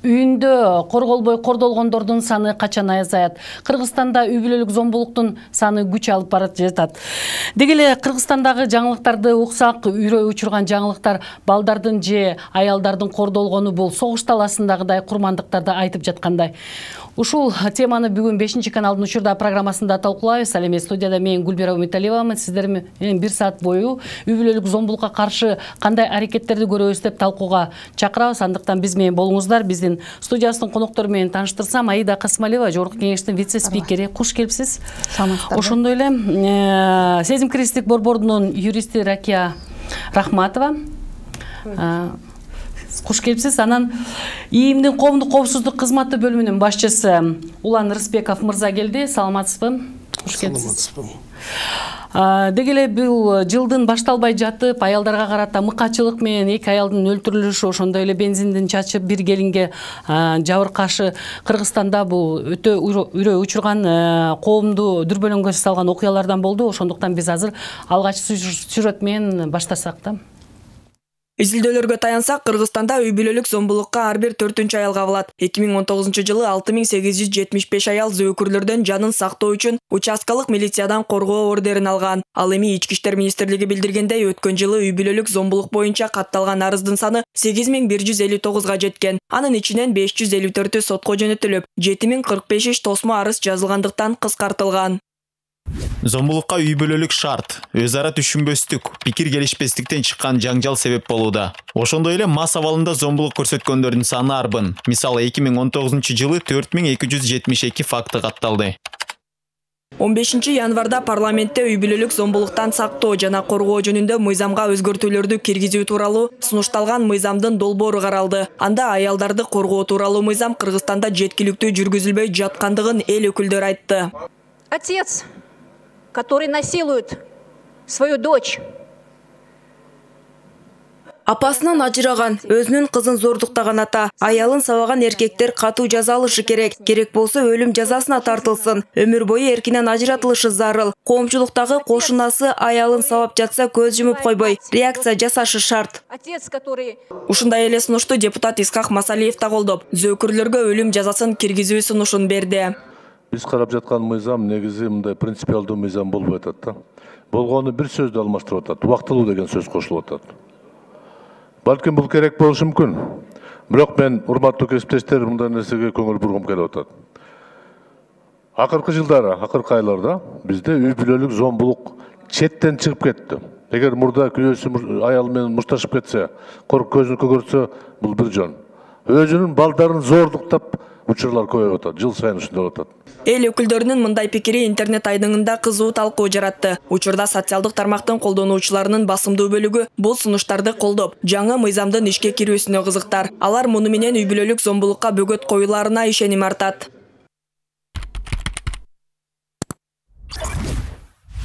Үйүндө корголбой кордолгондордун саны качан азаят? Кыргызстанда үй бүлөлүк зомбулуктун саны күч алып барып жатат. Деги эле Кыргызстандагы жаңылыктарды уксак, үйрөй учурган жаңылыктар балдардын же аялдардын кордолгону бул согуш таласындагыдай курмандыктарды айтып жаткандай. Ушул теманы бүгүн 5 каналдын учурда программасында талкуулайбыз. Ал эми студияда мен Гүлбира Умиталиевамын. Сиздер менен 1 саат бою үй бүлөлүк зомбулукка каршы кандай аракеттерди көрөбүз деп талкууга чакырабыз. Андыктан биз менен болуңуздар. Биздин студиясынын коноктору менен тааныштырсам, Аида Касымалиева, Жогорку кеңештин вице-спикери. Куш келипсиз. Ошондой эле Сезим-кирестик борборунун юристи Ракия Рахматова. Куш келипсиз. Анан ИИМдин коомдук коопсуздук кызматы бөлүмүнүн башчысы Улан Рыспеков мырза келди. Саламатсызбы? Куш келипсиз. Деги эле бул жылдын башталбай жатып, аялдарга карата мыкачылык менен 2 аялдын өлтүрүлүшү, ошондой эле бензиндин чачып бир келинге жабыркашы Кыргызстанда бул өтө үрөй учурган, коомду дүрбөлөңгө салган окуялардан болду. Ошондуктан биз азыр алгачкы сюжет менен баштасак да. Изилдөөлөргө таянсак, Кыргызстанда үй бүлөлүк зомбулукка ар бир 4-чү аял кабылат. 2019-жылы 6875 аял зөөкүрлөрдөн жанын сактоо үчүн участкалык милициядан коргоо ордерин алган. Ал эми Ички иштер министрлиги билдиргендей, өткөн жылы үй бүлөлүк зомбулук боюнча катталган арыздын саны 8159-га жеткен. Анын ичинен 554-ü сотко жөнөтүлүп, 7045 иш тосмо арыз жазылгандыктан кыскартылган. Зомбулукка үй бүлөлүк шарт, өз ара түшүнбөстүк, пикир келишпестиктен чыккан жаңжал себеп болууда. Ошондой эле мас абалында зомбулук көрсөткөндөрдүн саны арбын. Мисалы 2019-жылы 4272 факты катталды. 15 январда парламентте үй бүлөлүк зомбулуктан сактоо жана коргоо жөнүндө мыйзамга өзгөртүүлөрдү киргизүү тууралуу сунушталган мыйзамдын долбоору каралды. Анда аялдарды коргоо тууралуу мыйзам Кыргызстанда жеткиликтүү жүргүзүлбөй жаткандыгын эл өкүлдөрү айтты. Отец, который насилует свою дочь. Апасынан ажыраган, өзүнүн кызын зордуктаган ата, аялын сабаган эркектер катуу жаза алышы керек. Керек болсо өлүм жазасына тартылсын. Өмүр бою эркинен ажыратылышы зарыл. Коомчулуктагы кошунасы аялын сабап жатса көз жумуп койбой, реакция жасашы шарт. Ушундай эле сунушту депутат Исхак Масалиев да колдоп, зөөкүрлөргө өлүм жазасын киргизүү сунушун берди. Биз карап жаткан мыйзам негизи мындай принципиалдуу мыйзам болбой атат да. Болгону бир сөздү алмаштырып атат. Убактылуу деген сөз кошулуп атат. Балким бул керек болушу мүмкүн. Бирок мен урматтуу кесиптештер мындай нерсеге көңүл бургум келип атат. Акыркы жылдары, акыркы айларда бизде үй бүлөлүк зомбулук четтен чыгып кетти. Эгер мурда күйөөсү аял менен мушташып кетсе, көзүн көгөртсө, бул бир жөн. Өзүнүн балдарын зордуктап учурлар көбөйүп атат. Жыл сайын ушундай болуп атат. Эл өкүлдөрүнүн мындай пикири интернет айдыңында кызуу талкуу жаратты. Учурда социалдык тармактын колдонуучуларынын басымдуу бөлүгү бул сунуштарды колдоп, жаңы мыйзамдын ишке кирүүсүнө кызыктар. Алар муну менен үй бүлөлүк зомбулукка бөгөт коюларына ишеним артат.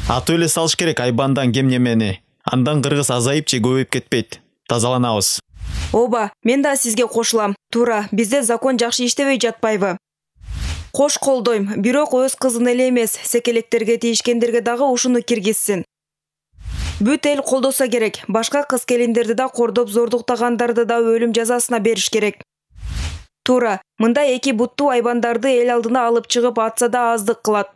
Аты эле салыш керек айбандан кем немени. Андан кыргыз азайып же көбөйүп кетпейт. Тазаланабыз. Оба, мен да сизге кошулам. Туура, бизде закон жакшы иштебей жатпайбы? Кош колдойм, бирок өз кызын эле эмес, секелектерге тийишкендерге дагы ушуну киргизсин. Бүт эл колдосо керек. Башка кыз келиндерди да кордоп, зордуктагандарды да өлүм жазасына бериш керек. Туура, мындай эки буттуу айбандарды эл алдына алып чыгып атса да аздык кылат.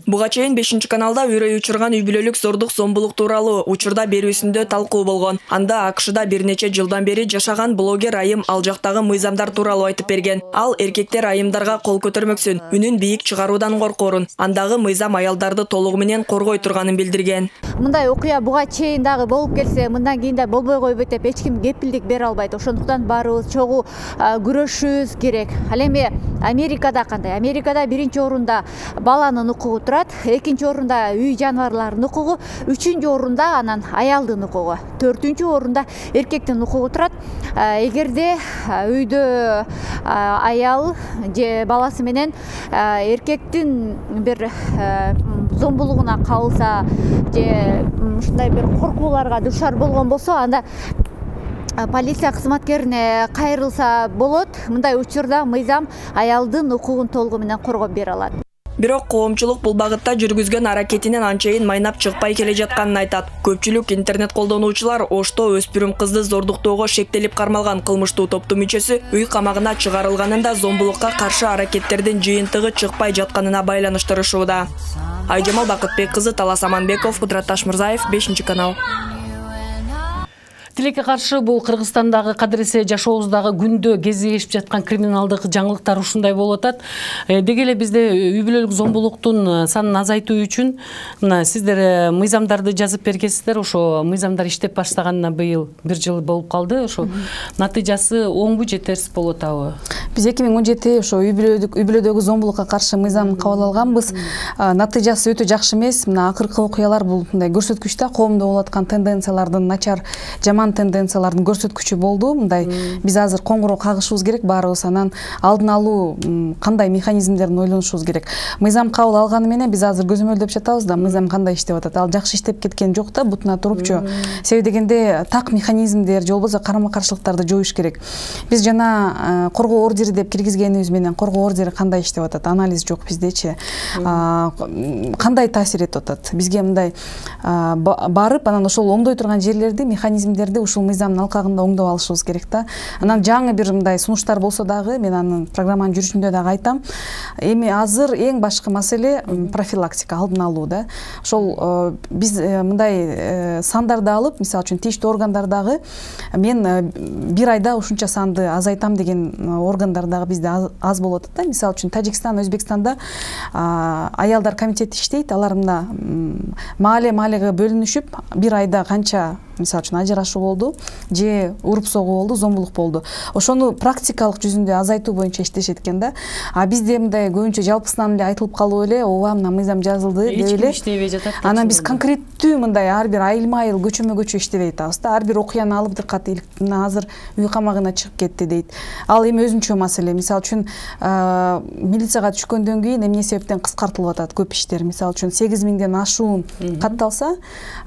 Буга чейин 5 каналда үрөй учурган үй бүлөлүк зордук зомбулук тууралуу учурда берүүсүндө талкуу болгон. Анда АКШда бир нече жылдан бери жашаган блогер айым ал жактагы мыйзамдар тууралуу айтып берген. Ал эркектер айымдарга кол көтөрмөксүн, үнүн бийик чыгаруудан коркорун. Андагы мыйзам аялдарды толугу менен коргой турганын билдирген. Мындай окуя буга чейин дагы болуп келсе, мындан кийин да болбой койбойт деп эч ким кепилдик бере албайт. Ошондуктан баарыбыз чогуу күрөшүшүбүз керек. Ал эми Америкада кандай? Америкада биринчи орунда баланын укугу турат, экинчи орунда үй жаныбарларынын укугу, үчүнчү орунда анан аялдын укугу, төртүнчү орунда эркектин укугу турат. Эгерде үйдө аял же баласы менен эркектин бир зомбулугуна кабылса же ушундай бир коркууларга дуушар болгон болсо, анда полиция кызматкерине кайрылса болот. Мындай учурда мыйзам аялдын укугун толугу менен коргоп бере алат. Бирок коомчулук бул багытта жүргүзгөн аракетинен анчайын майнап чыкпай келе жатканын айтат. Көпчүлүк интернет колдонуучулар Ошто өспүрүм кызды зордуктоого шектелип кармалган кылмыштуу топтун мүчөсү үй камагына чыгарылганын да зомбулукка каршы аракеттердин жыйынтыгы чыкпай жатканына байланыштырышууда. Айжамал Бакытбек кызы, Талас Аманбеков, Кудрат Ташмырзаев, 5-канал. Тилекке каршы бул Кыргызстандагы кадыресе жашообуздагы күндө кезигишип жаткан криминалдык жаңылыктар ушундай болуп атат. Деги эле бизде үй бүлөлүк зомбулуктун санын азайтуу үчүн мына сиздер мыйзамдарды жазып бергенсиздер. Ошо мыйзамдар иштеп баштаганына быйыл 1 жыл болуп калды. Ошо натыйжасы оңбу, жетерсиз болуп атабы? Биз 2017 ошо үй бүлөдөгү зомбулукка каршы мыйзам кабыл алганбыз. Натыйжасы өтө жакшы эмес. Мына акыркы окуялар бул мындай көрсөткүч да, коомдо болуп аткан тенденциялардын начар, жаман тенденциялардын көрсөткүчү болду. Мындай биз азыр коңгуроо кагышыбыз керек баарыбыз, анан алдын алуу кандай механизмдерин ойлонушубуз керек. Мыйзам кабыл алганы менен биз азыр көзөмөлдөп жатабыз да, мыйзам кандай иштеп атат. Ал жакшы иштеп кеткен жок да, бутуна турупчу. Себеби дегенде так механизмдер же болбосо карама-каршылыктарды жоюш керек. Биз жана коргоо ордери деп киргизгенибиз менен коргоо ордери кандай иштеп атат, анализ жок биздечи. Кандай таасир этип атат? Бизге мындай барып, анан ошол оңдой турган жерлерди, механизмдерди ушул мыйзамдын алкагында оңдоп алышыбыз керек да. Анан жаңы бир мындай сунуштар болсо дагы, мен анын программанын жүрүшүндө дагы айтам. Эми азыр эң башкы маселе профилактика, алдын алуу да. Ошол биз мындай сандарды алып, мисалы үчүн тийиштүү органдардагы мен 1 айда ушунча санды азайтам деген органдар дагы бизде аз болуп атат да. Мисалы үчүн Тажикстан, Өзбекстанда аялдар комитети иштейт. Алар мына маалеге бөлүнүшүп 1 айда канча мисалы үчүн ажырашуу болду же уруп согуу болду, зомбулук болду. Ошону практикалык жүзүндө азайтуу боюнча иштешет экен да. Бизде мындай көбүнчө жалпысынан эле айтылып калып эле, ооба мына мыйзам жазылды деп эле иштебей жатат. Анан биз конкреттүү мындай ар бир айылма-айыл, көчөмө-көчө иштебей атабыз да. Ар бир окуяны алып дыкат мына азыр үй камагына чыгып кетти дейт. Ал эми өзүнчө маселе. Мисалы үчүн милицияга түшкөндөн кийин эмне себептен кыскартылып атат көп иштер. Мисалы үчүн 8000ден ашуун катталса,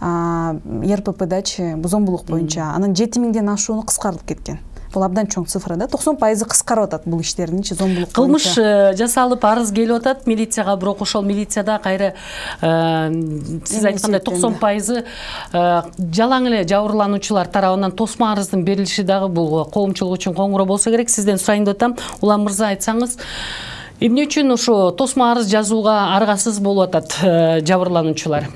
РППдачы зомбулук боюнча анын 7000ден ашууну кыскартып кеткен. Бул абдан чоң цифра да. 90% кыскарып атат бул иштердинчи зомбулук. Кылмыш жасалып арыз келип атат милицияга, бирок ошол милицияда кайра сиз айткандай 90% жалаң эле жабырлануучулар тарабынан тосма арыздын берилиши дагы бул коомчулук үчүн коңгуроо болсо керек. Сизден сурайын деп атам. Улам мырза, айтсаңыз, эмне үчүн ошо тосма арыз жазууга аргасыз болуп атат жабырлануучулар?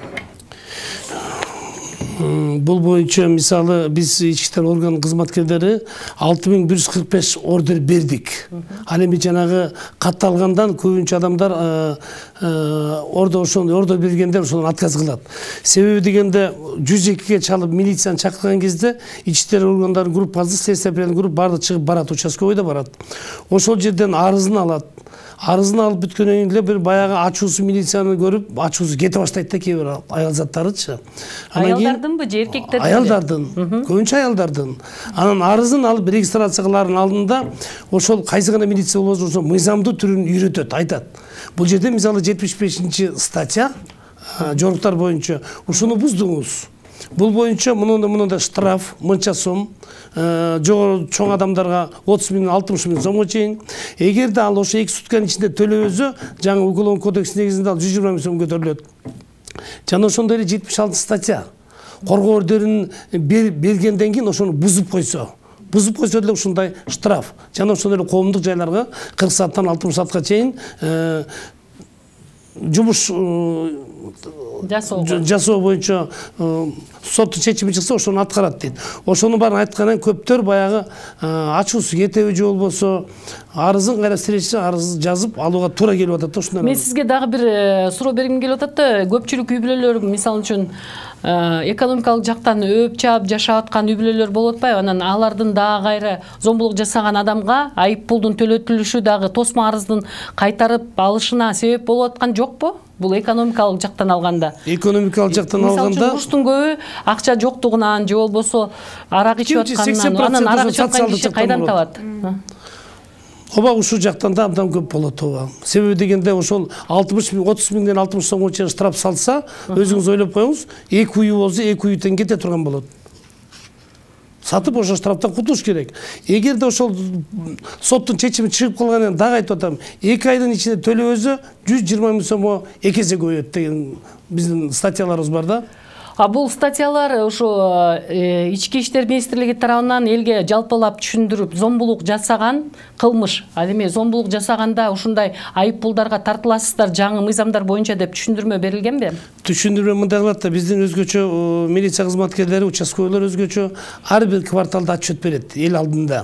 Бул боюнча мисалы биз ички иштер орган кызматкерлери 6145 ордер бердик. Ал эми жанагы катталгандан көбүнчө адамдар ордер бергендер ошондон отказ кылат. Себеби дегенде 102-ге чалып милицияны чакырган кезде ички иштер органдарынын группасы, следственный групп баары чыгып барат, участковый бойдо барат. Ошол жерден арызын алат. Арызын алып бүткөндөн кийин эле бир баягы ачуусу милицияны көрүп, ачуусу кете баштайт да кээ бир аял заттарычы. Аялдардынбы же эркектердин? Аялдардын, көбүнчө аялдардын. Анан арызын алып регистрация кылаардын алдында ошол кайсы гана милиция болбосо ошо мыйзамдуу түрүн үйрөтөт, айтат. Бул жерде мисалы 75-статья жоруктар боюнча ушуну буздуңуз. Бул боюнча мындай штраф мынча сом, жогору чоң адамдарга 30 000 60 000 сомго чейин. Эгерде ал ошо 2 сутканын ичинде төлөбөсө, жаңы Уголовный кодекс негизинде ал 120 000 сом көтөрүлөт. Жана ошондой эле 76 статья. Коргоо ордерин бергенден кийин ошону бузуп койсо деле ушундай штраф. Жана ошондой эле коомдук жайларга 40 сааттан 60 саатка чейин жумуш жасоо боюнча соттун чечими чыкса ошону аткарат дейт. Ошонун баарын айткандан көптөр баягы ачуусу кетеби же болбосо арызын кайра сирешчи арыз жазып алууга туура келип атат да ушундай. Мен сизге дагы бир суроо бергим келип атат да, көпчүлүк үй бүлөлөр мисалы үчүн экономикалык жактан өп чаап жашап аткан үй бүлөлөр болуп атпайбы? Анан алардын дагы кайра зомбулук жасаган адамга айып пулдун төлөтүлүшү дагы тосма арыздын кайтарып алышына себеп болуп аткан жокпу? Бул экономикалык жактан алганда. Экономикалык жактан алганда мисалы үчүн уруштун көбү акча жоктугунан же болбосо арак ичип атканынан, анан арак ичип аткан киши кайдан табат? Ооба, ушул жактан да абдан көп болот ооба. Себеби дегенде ошол 30 000ден 60 сомго чейин штраф салса, өзүңүз ойлоп коюңуз, 2 үй болсо 2 үйдөн кете турган болот. сатып ошол штрафтан кутулуш керек. Эгерде ошол соттун чечими чыгып калганын дагы айтып атам, 2 айдын ичинде төлөбөсө 120 000 сомго 2 эсе көбөйөт деген биздин статьяларыбыз бар да. Бул статьялар ошо ички иштер министрлиги тарабынан элге жалпылап түшүндүрүп, зомбулук жасаган кылмыш, ал эми зомбулук жасаганда ушундай айып пулдарга тартыласыздар жаңы мыйзамдар боюнча деп түшүндүрмө берилгенби? Түшүндүрмө мындай кылат да, биздин өзгөчө милиция кызматкерлери, участковыйлар өзгөчө ар бир кварталда отчет берет эл алдында.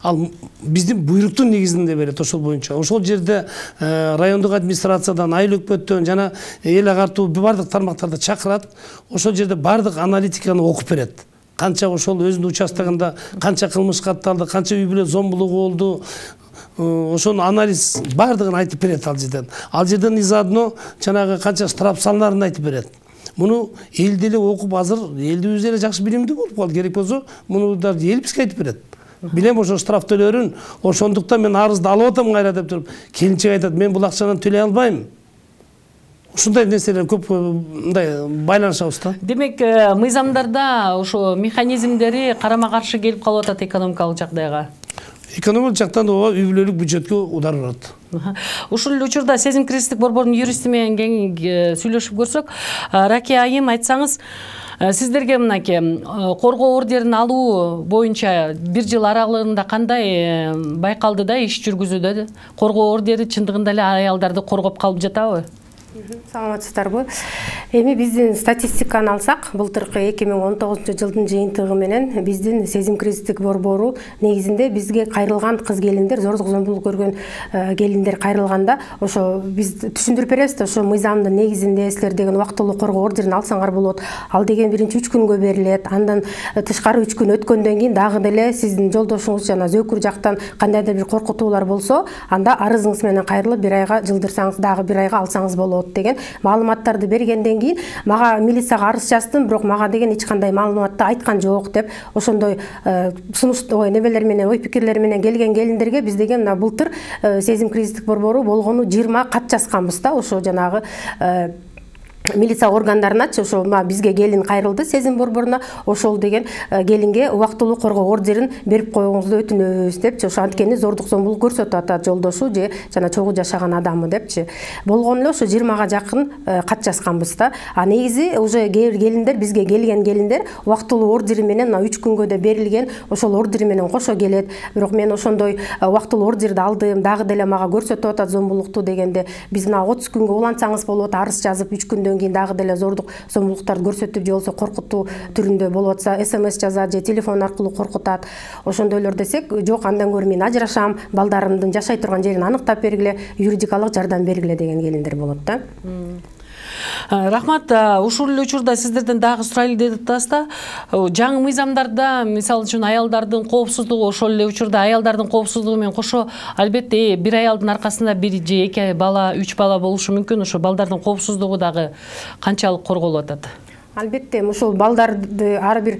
Ал биздин буйруктун негизинде берет ошол боюнча. Ошол жерде райондук администрациядан, айыл өкмөттөн жана эл агартуу бардык тармактарды чакырат. Ошол жерде бардык аналитиканы окуп берет. Канча ошол өзүнүн участогунда канча кылмыш катталды, канча үй бүлө зомбулугу болду. Ошону анализ бардыгын айтып берет ал жерден. Ал жерден изадно жанагы канча штраф салнарын айтып берет. Муну эл деле окуп азыр элдибиз деле жакшы билимдүү болуп калды. Керек болсо муну да эл бизге айтып берет. Билем ошо штраф төлөөрүн, ошондуктан мен арызды алып атам кайра деп туруп, келинчек айтат, мен бул акчаны төлөй албайм. Ушундай нерселер көп мындай байланышабыз да. Демек, мыйзамдарда ошо механизмдери карама-каршы келип калып атат экономикалык жагдайга. Экономикалык жактан да үй бүлөлүк бюджетке удар барат. Ушул эле учурда Сезим кризистик борбордун юристи менен кең сүйлөшүп көрсөк, Ракия айым, айтсаңыз, сиздерге мынакей коргоо ордерин алуу боюнча 1 жыл аралыгында кандай байкалды да иш жүргүзүүдө? Коргоо ордери чындыгында эле аялдарды коргоп калып жатабы? Саламатсыздарбы? Эми биздин статистиканы алсак, былтыркы 2019-жылдын жыйынтыгы менен биздин Сезим кризистик борбору негизинде бизге кайрылган кыз келиндер, зордук зомбулук көргөн келиндер кайрылганда, ошо биз түшүндүрүп беребиз да, ошо мыйзамдын негизинде силер деген убактылуу коргоо ордерин алсаңар болот. Ал деген биринчи 3 күнгө берилет. Андан тышкары 3 күн өткөндөн кийин дагы деле сиздин жолдошуңуз жана зөөкүр жактан кандайдыр бир коркутуулар болсо, анда арызыңыз менен кайрылып 1 айга жылдырсаңыз, дагы 1 айга алсаңыз болот деген маалыматтарды бергенден кийин мага милицияга арыз жаздым, бирок мага деген эч кандай маалыматты айткан жок деп ошондой сунуш небелер менен, ой пикирлер менен келген келиндерге биз деген былтыр Сезим кризистик борбору болгону 20 кат жазганбыз да, ошо жанагы милиция органдарыначы, ошо бизге келин кайрылды Сезим борборуна, ошол деген келинге убактылуу коргоо ордерин берип коюңузду өтүнөбүз депчи, ошо анткени зордук зомбулук көрсөтүп атат жолдошу же жана чогуу жашаган адамы депчи. Болгону эле ошо 20га жакын кат жазганбыз да. Негизи уже келиндер, бизге келген келиндер убактылуу ордери менен 3 күнгө да берилген, ошол ордери менен кошо келет. Бирок мен ошондой убактылуу ордерди алдым, дагы деле мага көрсөтүп атат зомбулукту дегенде, биз 30 күнгө улантсаңыз болот, арыз жазып 3 күндөн кийин дагы деле зордук зомбулуктарды көрсөтүп же болсо коркутуу түрүндө болуп атса, СМС жазат же телефон аркылуу коркутат. Ошондойлор десек, жок, андан көрө мен ажырашам, балдарымдын жашай турган жерин аныктап бергиле, юридикалык жардам бергиле деген келиндер болот да. Рахмат, ушул эле учурда сиздерден дагы сурайлы деп атасызда. Жаңы мыйзамдарда, мисалы үчүн, аялдардын коопсуздугу, ошол эле учурда аялдардын коопсуздугу менен кошо, албетте, бир аялдын аркасында 1 же 2 бала, 3 бала болушу мүмкүн. Ошо балдардын коопсуздугу дагы канчалык корголуп атат? Албетте, ушул балдарды ар бир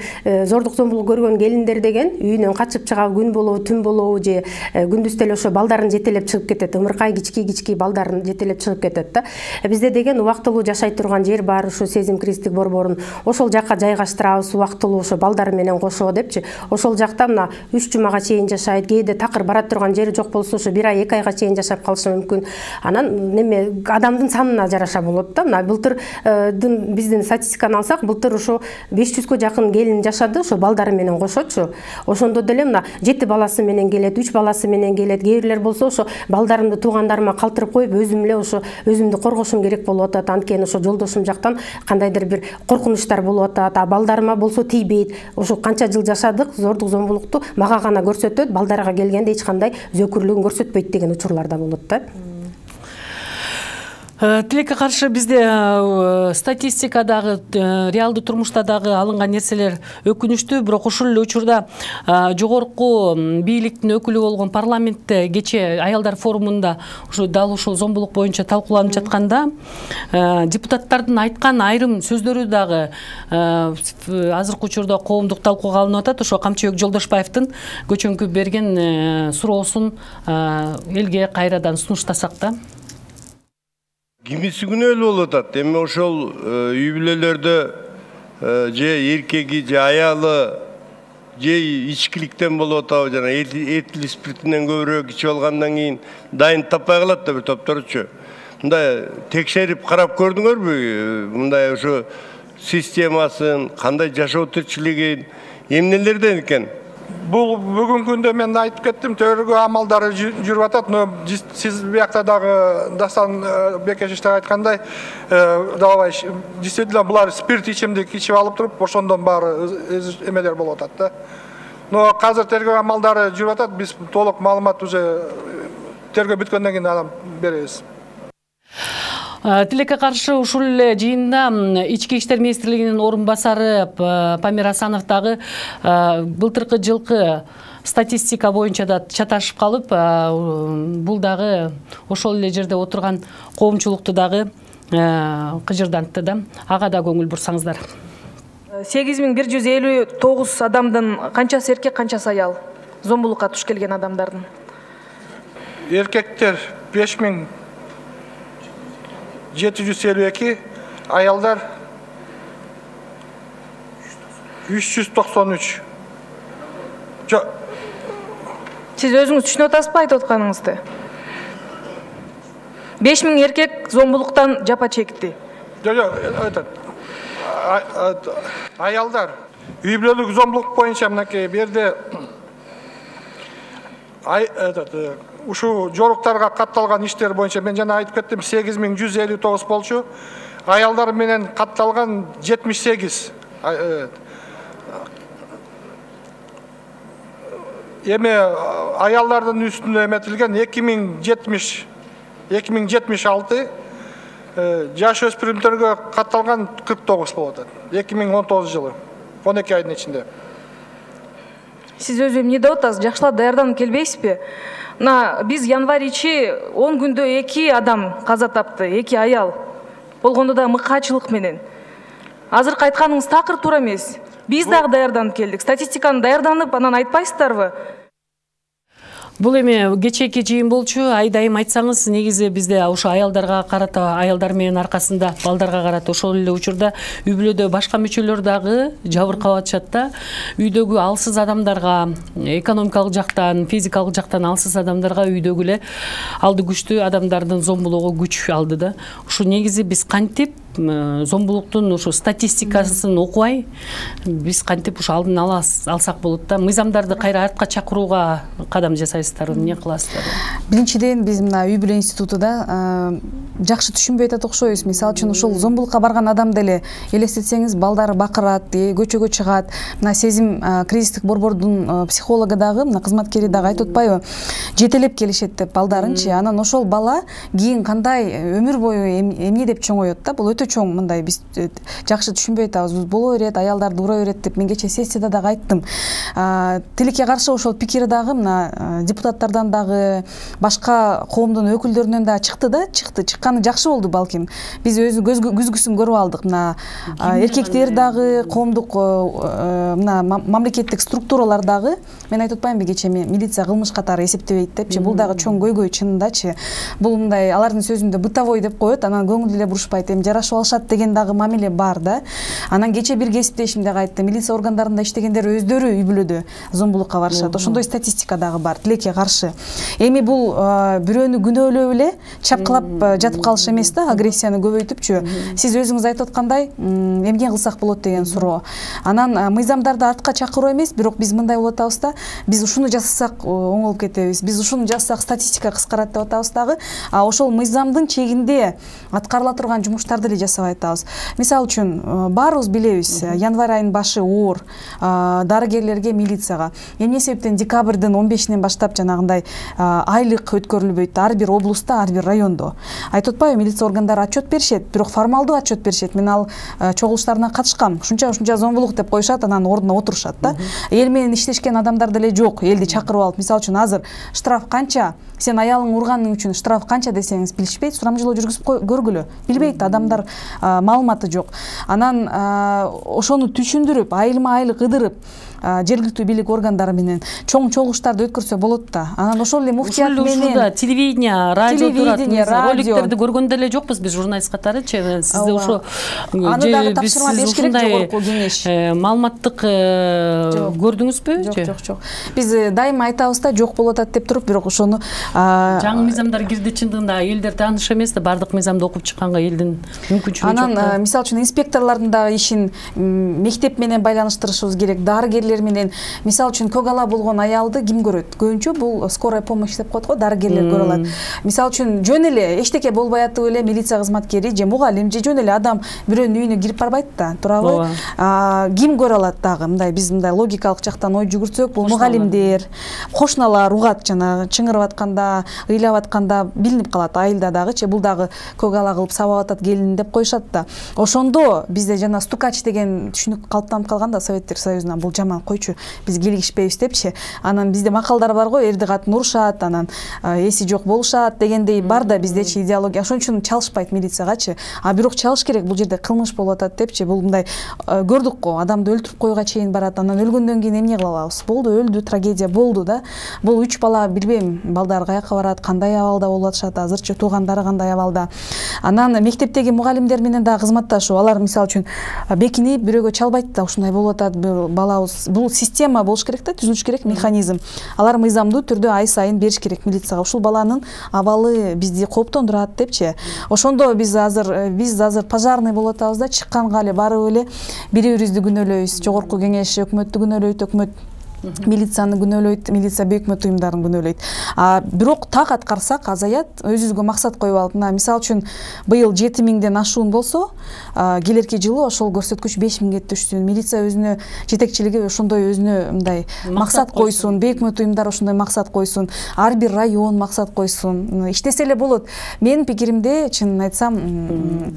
зордук зомбулук көргөн келиндер деген үйүнөн качып чыгабы, күн болобу, түн болобу же күндүз деле ошо балдарын жетелеп чыгып кетет, ымыркай кички балдарын жетелеп чыгып кетет да. Бизде деген убактылуу жашай турган жер бар, ошо Сезим кризистик борборун ошол жакка жайгаштырабыз, убактылуу ошо балдары менен кошо депчи. Ошол жакта 3 жумага чейин жашайт, кээде такыр бара турган жери жок болсо ошо 1 ай 2 айга чейин жашап калышы мүмкүн. Анан неме адамдын санына жараша болот да. Былтырдын биздин статистиканы алсак, былтыр ошо 500гө жакын келин жашады, ошо балдары менен кошочу. Ошондо деле 7 баласы менен келет, 3 баласы менен келет. Кээрлер болсо ошо балдарымды туугандарыма калтырып коюп, өзүм эле ошо өзүмдү коргошум керек болуп атат. Анткени ошо жолдошум жактан кандайдыр бир коркунучтар болуп атат. Балдарыма болсо тийбейт. Ошо канча жыл жашадык, зордук зомбулукту мага гана көрсөтөт, балдарга келгенде эч кандай зөөкүрлүгүн көрсөтпөйт деген учурлар да болот да. Тилекке каршы бизде статистикадагы, реалдуу турмушта дагы алынган нерселер өкүнүчтүү, бирок ушул эле учурда жогорку бийликтин өкүлү болгон парламентте кечээ аялдар форумунда дал ушул зомбулук боюнча талкууланып жатканда депутаттардын айткан айрым сөздөрү дагы азыркы учурда коомдук талкууга алынып атат. Ошо Камчыбек Жолдошбаевдин көчөңкү берген суроосун элге кайрадан сунуштасак да. Кимиси күнөөлүү болуп атат. Эми ошол үй бүлөлөрдө же эркеги же аялы же ичкиликтен болуп атабы, жана этил спиртинен көбүрөөк ичип алгандан кийин дайын таппай калат да бир топторчу. Мындай текшерип карап көрдүңөрбү? Мындай ошо системасын, кандай жашоо тирчилигин, эмнелерден экен? Бул бүгүнкү күндө мен айтып кеттим, төргө амалдары жүрүп атат, но сиз биякта дагы Дастан Бекешевич айткандай, давай действительно булар спирт ичимдик ичип алып туруп, ошондон баары эмелер болуп атат да. Но азыр тергөө амалдары жүрүп атат, биз толук маалымат уже тергөө бүткөндөн кийин анан беребиз. Тилекке каршы ушул эле жыйында Ички иштер министрлигинин орун басары Памир Асанов дагы былтыркы жылкы статистика боюнча да чаташып калып, бул дагы ошол эле жерде отурган коомчулукту дагы кыжырдантты да. Ага да көңүл бурсаңыздар. 8159 адамдын канчасы эркек, канчасы аял? Зомбулукка туш келген адамдардын. Эркектер 5752, аялдар 393. Сиз өзүңүз түшүнүп атасызбы айтып атканыңызды? 5000 эркек зомбулуктан жапа чекти. Жок, аялдар үй бүлөлүк зомбулук боюнча мынакей берде ушу жоруктарга катталган иштер боюнча мен жана айтып кеттим, 8159 болчу. Аялдар менен катталган 78. Эми аялдардын үстүнө эметилген 2076, жаш өспүрүмдөргө катталган 49 болуп атат. 2019 жылы 12 айдын ичинде. Сиз өзү эмне деп атасыз? Жакшылап даярданып келбейсизби? Биз январь ичи 10 күндө 2 адам каза тапты, 2 аял. Болгондо да мыкаачылык менен. Азыркы айтканыңыз такыр туура эмес. Биз дагы даярданып келдик. Статистиканы даярданып, анан айтпайсыздарбы? Бул эми кечээки жыйын болчу. Айдайым айтсаңыз, негизи бизде ошо аялдарга карата, аялдар менен аркасында балдарга карата ошол эле учурда үй бүлөдө башка мүчөлөр дагы жабыркап атышат да. Үйдөгү алсыз адамдарга, экономикалык жактан, физикалык жактан алсыз адамдарга үйдөгү эле алды күчтүү адамдардын зомбулугу күч алды да. Ушу негизи биз кантип зомбулуктун ушу статистикасын окубай, биз кантип ушу алдын алсак болот да. Мыйзамдарды кайра артка чакырууга кадам жасайсыздар, эмне кыласыздар? Биринчиден биз мына үй бүлө институтуда жакшы түшүнбөй атат окшойбуз. Мисалы үчүн ушул зомбулукка барган адам деле элестетсеңиз, балдары бакырат, көчөгө чыгат. Мына сезим кризистик борбордун психологу дагы, мына кызматкери дагы айтып атпайбы? Жетелеп келишет деп балдарынчы. Анан ошол бала кийин кандай өмүр бою эмне деп чоңоет да? Бул өтө чоң, мындай биз жакшы түшүнбөй атабыз. Боло берет, аялдарды ура берет деп мен кечээ сессияда дагы айттым. Тилекке каршы ошол пикир дагы мына депутаттардан дагы, башка коомдун өкүлдөрүнөн дагы чыкты да, чыкканы жакшы болду балким. Биз өзү күзгүсүн көрүп алдык. Мына эркектер дагы, коомдук мына мамлекеттик структуралар дагы, мен айтып атпаймынбы кечээ милиция кылмыш катары эсептебейт депчи. Бул дагы чоң көйгөй чынындачы. Бул мындай алардын сөзүндө бытовой деп коет, анан көңүл эле бурушпайт, эми жарашып алышат деген дагы мамиле бар да. Анан кечээ бир кесиптешим дагы айтты, милиция органдарында иштегендер өздөрү үй бүлөдө зомбулукка барышат. Ошондой статистика дагы бар, тилекке каршы. Эми бул бирөөнү күнөөлөп эле чапкылап жатып калыш эмес да, агрессияны көбөйтүпчү. Сиз өзүңүз айтып аткандай, эмне кылсак болот деген суроо. Анан мыйзамдарды артка чакыруу эмес, бирок биз мындай болуп атабыз да, биз ушуну жасасак оңолуп кетебиз, биз ушуну жасасак статистика кыскарат деп атабыз дагы. Ошол мыйзамдын чегинде аткарыла турган жумуштарды эле жасабай атабыз. Мисалы үчүн баарыбыз билебиз, январь айынын башы оор, дарыгерлерге, милицияга. Эмне себептен декабрдын 15-нен баштап жанагындай айлык өткөрүлбөйт ар бир облустта, ар бир райондо. Айтып атпайбы, милиция органдары отчет беришет, бирок формалдуу отчет беришет. Мен ал чогулуштарына катышкам. Ушунча зомбулук деп коюшат, анан ордуна отурушат да. Эл менен иштешкен адамдар деле жок. Элди чакырып алып, мисалы үчүн азыр штраф канча, сен аялың урганың үчүн штраф канча десеңиз билишпейт, сурамжылоо жүргүзүп көргүлө. Билбейт, адамдар маалыматы жок. Анан ошону түшүндүрүп, айылма айлык ыдырып, жергиликтүү бийлик органдары менен чоң чогулуштарды өткөрсө болот да. Анан ошол эле муфтият менен ушунда телевидение, радио турат. Роликтерди көргөн деле жокпуз биз журналист катары. Сизде ошо аны дагы тапшырма бериш керек жогорку кеңеш. Маалыматтык көрдүңүзбү? Жок. Биз дайыма айтабыз да, жок болуп атат деп туруп, бирок ошону жаңы мыйзамдар кирди, чындыгында элдер тааныш эмес да, бардык мыйзамды окуп чыкканга элдин мүмкүнчүлүгү жок. Анан мисалы үчүн инспекторлордун дагы ишин мектеп менен байланыштырышыбыз керек, дарыгерлер менен. Мисалы үчүн көгала болгон аялды ким көрөт? Көбүнчө бул скорая помощь деп коет го, дарыгерлер көрө алат. Мисалы үчүн жөн эле эчтеке болбой атып эле милиция кызматкери же мугалим же жөн эле адам бирөөнүн үйүнө кирип барбайт да, туурабы? Ким көрө алат дагы? Мындай биз мындай логикалык жактан ой жүгүртсөк, бул мугалимдер, кошуналар угат, жана чыңырып атканда, ыйлап атканда билинип калат, айылда дагычы бул дагы көгала кылып сабап атат келин деп коюшат да. Ошондо бизде жана стукач деген түшүнүк калыптанып калган да Советтер Союзунан, бул жаман койчу, биз килигишпейбиз депчи. Анан бизде макалдар бар го, эрди катын урушат, анан эси жок болушат дегендей бар да биздечи идеология. Ошон үчүн чалышпайт милициягачы. А бирок чалыш керек, бул жерде кылмыш болуп атат депчи. Бул мындай көрдүк го, адамды өлтүрүп коюуга чейин барат. Анан өлгөндөн кийин эмне кыла алабыз? Болду, өлдү, трагедия болду да. Бул 3 бала билбейм, балдар каяка барат, кандай абалда болуп атышат, азырчы туугандары кандай абалда. Анан мектептеги мугалимдер менен дагы кызматташуу, алар мисалы үчүн бекинип бирөөгө чалбайт да, ушундай болуп атат, балабыз. Бул система болуш керек да, түзүлүш керек механизм. Алар мыйзамдуу түрдө ай сайын бериш керек милицияга. Ушул баланын абалы бизди кооптондурат депчи. Ошондо биз азыр пожарный болуп атабыз да, чыкканга эле барып эле бири-бирибизди күнөөлөйбүз. Жогорку кеңеш өкмөттү күнөөлөйт, өкмөт милицияны күнөөлөйт, милиция өкмөт уюмдарын күнөөлөйт. Бирок так аткарсак азаят, өзүбүзгө максат коюп алып, мисалы үчүн быйыл 7000ден ашуун болсо, келерки жылы ошол көрсөткүч 5000ге түшсүн. Милиция өзүнө жетекчилиги ошондой өзүнө мындай максат койсун, өкмөт уюмдары ошондой максат койсун, ар бир район максат койсун. Иштесе эле болот. Менин пикиримде, чынын айтсам,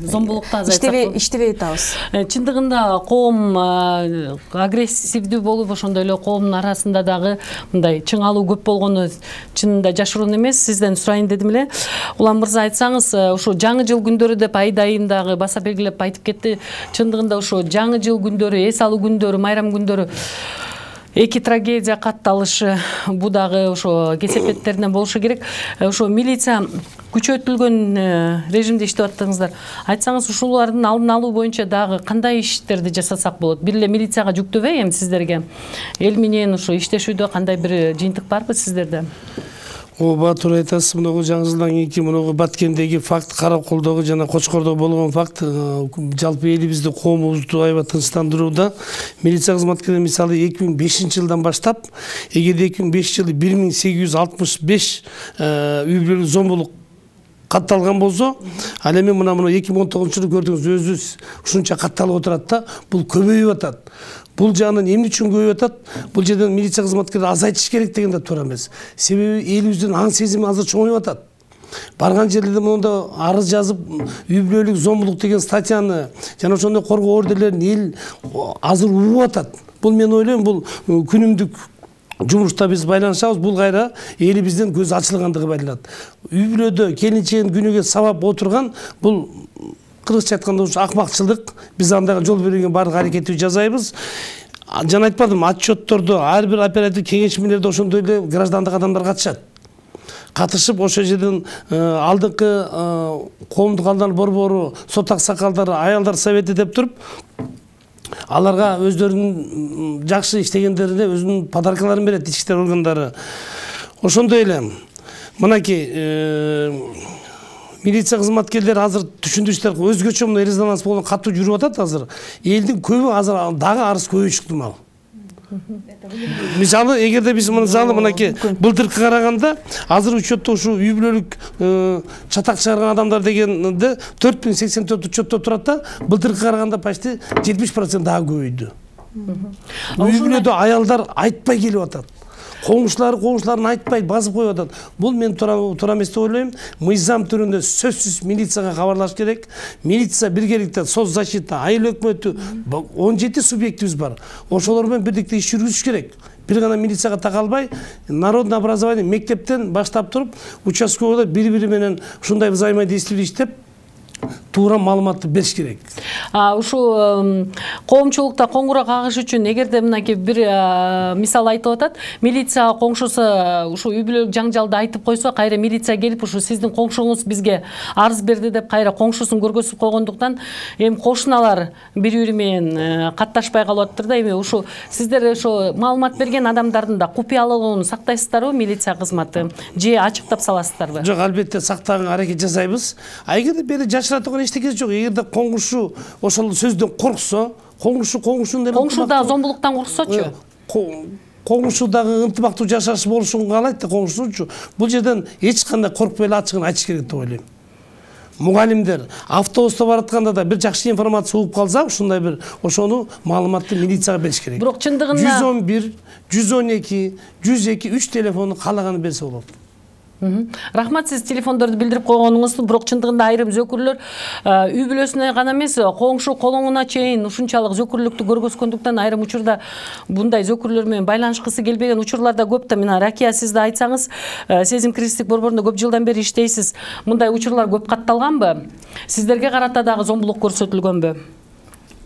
зомбулукта азайтсак иштебей атабыз. Чындыгында коом агрессивдүү болуп, ошондой эле коомдун арасында дагы мындай чыңалуу көп болгону чынында жашыруун эмес. Сизден сурайын дедим эле. Улам мырза, айтсаңыз, ушу жаңы жыл күндөрү деп айдайым дагы баса белгилеп айтып кетти. Чындыгында ушу жаңы жыл күндөрү, эс алуу күндөрү, майрам күндөрү эки трагедия катталышы, бу дагы ошо кесепеттеринен болушу керек. Ошо милиция күчөтүлгөн режимде иштеп аттыңыздар. Айтсаңыз, ушулардын алдын алуу боюнча дагы кандай иштерди жасасак болот? Бир эле милицияга жүктөбөй эми сиздерге? Эл менен ушу иштешүүдө кандай бир жыйынтык барбы сиздерде? Ооба, туура айтасыз. Мынагу жаңы жылдан кийинки мынагу Баткендеги факт, Караколдогу жана Кочкордо болгон факт жалпы элибизди, коомубузду аябай тынчтандырууда. Милиция кызматкерлери мисалы 2005 жылдан баштап, эгерде 2005 жылы 1865 үй бүлөлүк зомбулук катталган болсо, ал эми мына 2019 жылы көрдүңүз, өзүбүз ушунча катталып отурат да, бул көбөйүп атат. Бул жагынан эмне үчүн көбөйүп атат? Бул жерден милиция кызматкерлери азайтыш керек деген да туура эмес. Себеби элибиздин аң сезими азыр чоңоюп атат. Барган жерлерде монда арыз жазып, үй бүлөлүк зомбулук деген статьяны жана ошондой коргоо ордерлерин эл азыр угуп атат. Бул мен ойлойм, бул күнүмдүк жумушта биз байланышабыз, бул кайра элибиздин көз ачылгандыгы байланат. Үй бүлөдө келинчегин күнүгө сабап отурган, бул кыргызча айтканда ушу акмакчылык. Биз андайга жол бербеген баардык аракетти жасайбыз. Жана айтпадым, отчеттордо ар бир оператив кеңешмелерде ошондой эле граждандык адамдар катышат. Катышып, ошол жерден алдыңкы коомдук алдын алуу борбору, сот аксакалдары, аялдар совети деп туруп, аларга өздөрүнүн жакшы иштегендерине өзүнүн подаркаларын берет ички иштер органдары. Ошондой эле мынакей милиция кызматкерлери азыр түшүндүрүштөр өзгөчө мына резонанс болгон катуу жүрүп атат азыр. Элдин көбү азыр дагы арыз көбөйүп чыктымал. Мисалы, эгерде биз мынакей былтыркы караганда, азыр учетто ушу үй бүлөлүк чатак чыгарган адамдар дегенде 4084 учетто турат да, былтыркы караганда почти 70% дагы көбөйдү. Үй бүлөдө аялдар айтпай келип атат. Коңшуларын айтпай басып коюп атат. Бул мен туура эмес деп ойлойм. Мыйзам түрүндө сөзсүз милицияга кабарлаш керек. Милиция биргеликте соцзащита, айыл өкмөтү 17 субъектибиз бар. Ошолор менен бирдикте иш жүргүзүш керек. Бир гана милицияга такалбай, народное образование мектептен баштап туруп, участковыйда бири-бири менен ушундай взаимодействие иштеп, туура маалыматты бериш керек. Ушу коомчулукта коңгуроо кагыш үчүн эгерде мынакей бир мисал айтып атат, милиция коңшусу ушу үй бүлөлүк жаңжалды айтып койсо, кайра милиция келип ушу сиздин коңшуңуз бизге арыз берди деп кайра коңшусун көргөзүп койгондуктан эми кошуналар бири-бири менен катташпай калып атыптыр да. Эми ушу сиздер ошо маалымат берген адамдардын да купуялыгын сактайсыздарбы милиция кызматы же ачыктап саласыздарбы? Жок, албетте сактаганга аракет жасайбыз. Эгерде бери жашыра турган эчтекеси жок. Эгерде коңгушу ошол сөздөн корксо, коңгушу да зомбулуктан корксочу? Коңгушу дагы ынтымактуу жашаш болушун каалайт да коңгусучу. Бул жерден эч кандай коркпой эле ачыгын айтыш керек деп ойлойм. Мугалимдер автобуста баратканда да бир жакшы информация угуп калса, ушундай бир ошону маалыматты милицияга бериш керек. Бирок чындыгында 111, 112, 102, 3 телефону каалаганы берсе болот. Рахмат, сиз телефондорду билдирип койгонуңуз. Бирок чындыгында айрым зөкүрлөр үй бүлөсүнө гана эмес, коңшу колоңуна чейин ушунчалык зөкүрлүктү көргөзгөндүктөн айрым учурда bunday зөкүрлөр менен байланышкысы келбеген учурлар да көп да. Мына Ракия, сиз да айтсаңыз, Сезим кризистик борборунда көп жылдан бери иштейсиз. Мындай учурлар көп катталганбы? Сиздерге карата дагы зомбулук көрсөтүлгөнбү?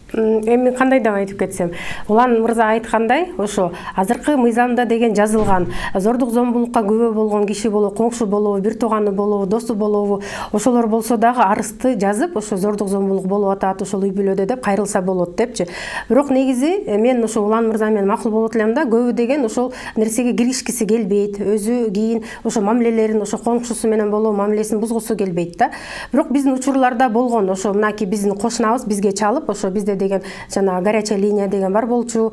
Эми кандай деп айтып кетсем, Улан мырза айткандай, ошо азыркы мыйзамда деген жазылган зордук зомбулукка күбө болгон киши болобу, коңшу болобу, бир тууганы болобу, досу болобу, ошолор болсо дагы арызды жазып, ошо зордук зомбулук болуп атат, ошол үй бүлөдө деп кайрылса болот депчи. Бирок негизи мен ошо Улан мырза менен макул болот элем да, көбү деген ошол нерсеге киришкиси келбейт, өзү кийин ошо мамилелерин ошо коңшусу менен болобу мамилесин бузгусу келбейт да. Бирок биздин учурларда болгон, ошо мынакей биздин кошунабыз бизге чалып, ошо бизде деген жана горячая линия деген бар болчу,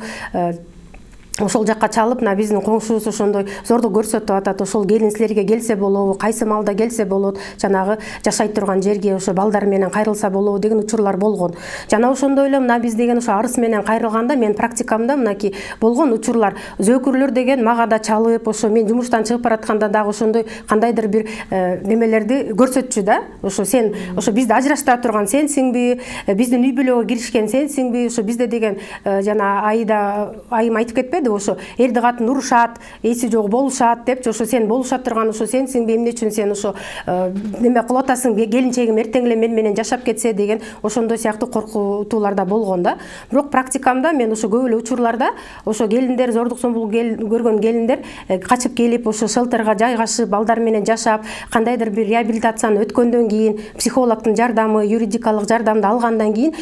ошол жакка чалып, мына биздин коңшубуз ошондой зордук көрсөтүп атат, ошол келин силерге келсе болобу, кайсы маалда келсе болот, жанагы жашай турган жерге ошо балдар менен кайрылса болобу деген учурлар болгон. Жана ошондой эле мына биз деген ошо арыз менен кайрылганда мен практикамда мынакей болгон учурлар, зөкүрлөр деген мага да чалып, ошо мен жумуштан чыгып баратканда дагы ошондой кандайдыр бир немелерди көрсөтчү да. Ошо сен ошо бизди ажыраштыра турган сенсиңби, биздин үй бүлөгө киришкен сенсиңби, ошо бизде деген жана айым айтып кетпеди, ошо эрди катын урушат, эси жок болушат депчи, ошо сен болуша турган ошо сенсиңби, эмне үчүн сен ошо неме кылып атасың, келинчегим эртең эле мен менен жашап кетсе деген ошондой сыяктуу коркутуулар да болгон да. Бирок практикамда мен ошо көп эле учурларда ошо келиндер, зордук зомбулук көргөн келиндер качып келип ошо шелтерге жайгашып, балдар менен жашап, кандайдыр бир реабилитацияны өткөндөн кийин, психологдун жардамы, юридикалык жардамды алгандан кийин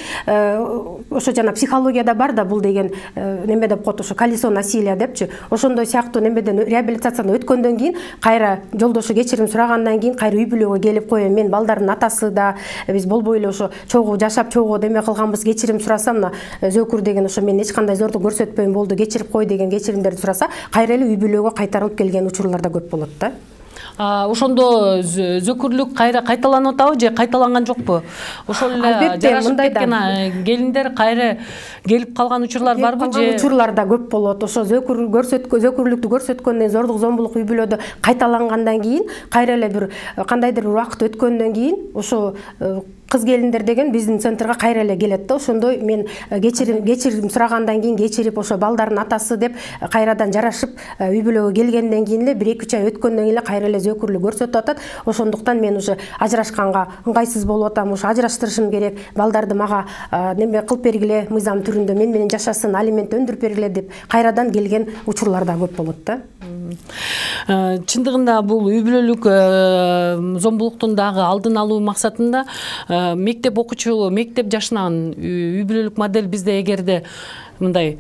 ошо жана психологияда бар да бул деген неме деп коет, ошо колесо насилия депчи, ошондой сыяктуу немеден реабилитацияны өткөндөн кийин кайра жолдошу кечирим сурагандан кийин кайра үй бүлөгө келип коем, мен балдардын атасы да, биз болбой эле ошо чогуу жашап чогуу деме кылганбыз, кечирим сурасам, мына зөкүр деген ошо мен эч кандай зордук көрсөтпөйм болду, кечирип кой деген кечиримдерди сураса, кайра эле үй бүлөгө кайтарылып келген учурлар да көп болот да. Ошондо зөкүрлүк кайра кайталанып атабы же кайталанган жокпу? Ошол эле жарашып кеткен келиндер кайра келип калган учурлар барбы же? Учурлар да көп болот. Ошо зөкүрлүктү көрсөткөндөн, зордук зомбулук үй бүлөдө кайталангандан кийин, кайра эле бир кандайдыр бир убакыт өткөндөн кийин ошо кыз келиндер деген биздин центрга кайра эле келет да. Ошондой мен кечирим сурагандан кийин кечирип ошо балдардын атасы деп кайрадан жарашып үй бүлөгө келгенден кийин эле 1-2 ай өткөндөн кийин эле кайра эле зөкүрлүк көрсөтүп атат. Ошондуктан мен уже ажырашканга ыңгайсыз болуп атам, ошо ажыраштырышым керек, балдарды мага неме кылып бергиле, мыйзам түрүндө мен менен жашасын, алимент өндүрүп бергиле деп кайрадан келген учурлар да көп болот да. Чындыгында бул үй бүлөлүк зомбулуктун дагы алдын алуу максатында мектеп окуучу, мектеп жашынан үй бүлөлүк модель бизде эгерде мындай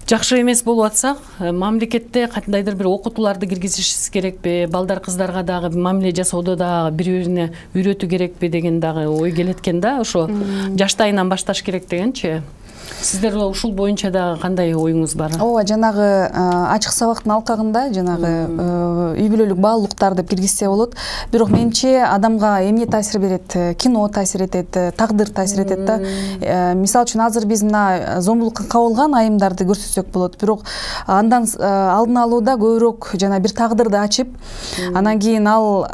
жакшы эмес болуп атса, мамлекетте кандайдыр бир окутууларды киргизишибиз керекпи, балдар кыздарга дагы мамиле жасоодо дагы бири-бирине үйрөтүү керекпи деген дагы ой келет экен да, ошо жаштайынан башташ керек дегенчи. Сиздер ушул боюнча да кандай оюңуз бар? Ооба, жанагы ачык сабактын алкагында жанагы үй бүлөлүк баалуулуктар деп киргизсе болот. Бирок менимче адамга эмне таасир берет? Кино таасир этет, тагдыр таасир этет да. Мисалы үчүн азыр биз мына зомбулукка кабылган айымдарды көрсөтсөк болот. Бирок андан алдын алууда көбүрөөк жана бир тагдырды ачып, анан кийин ал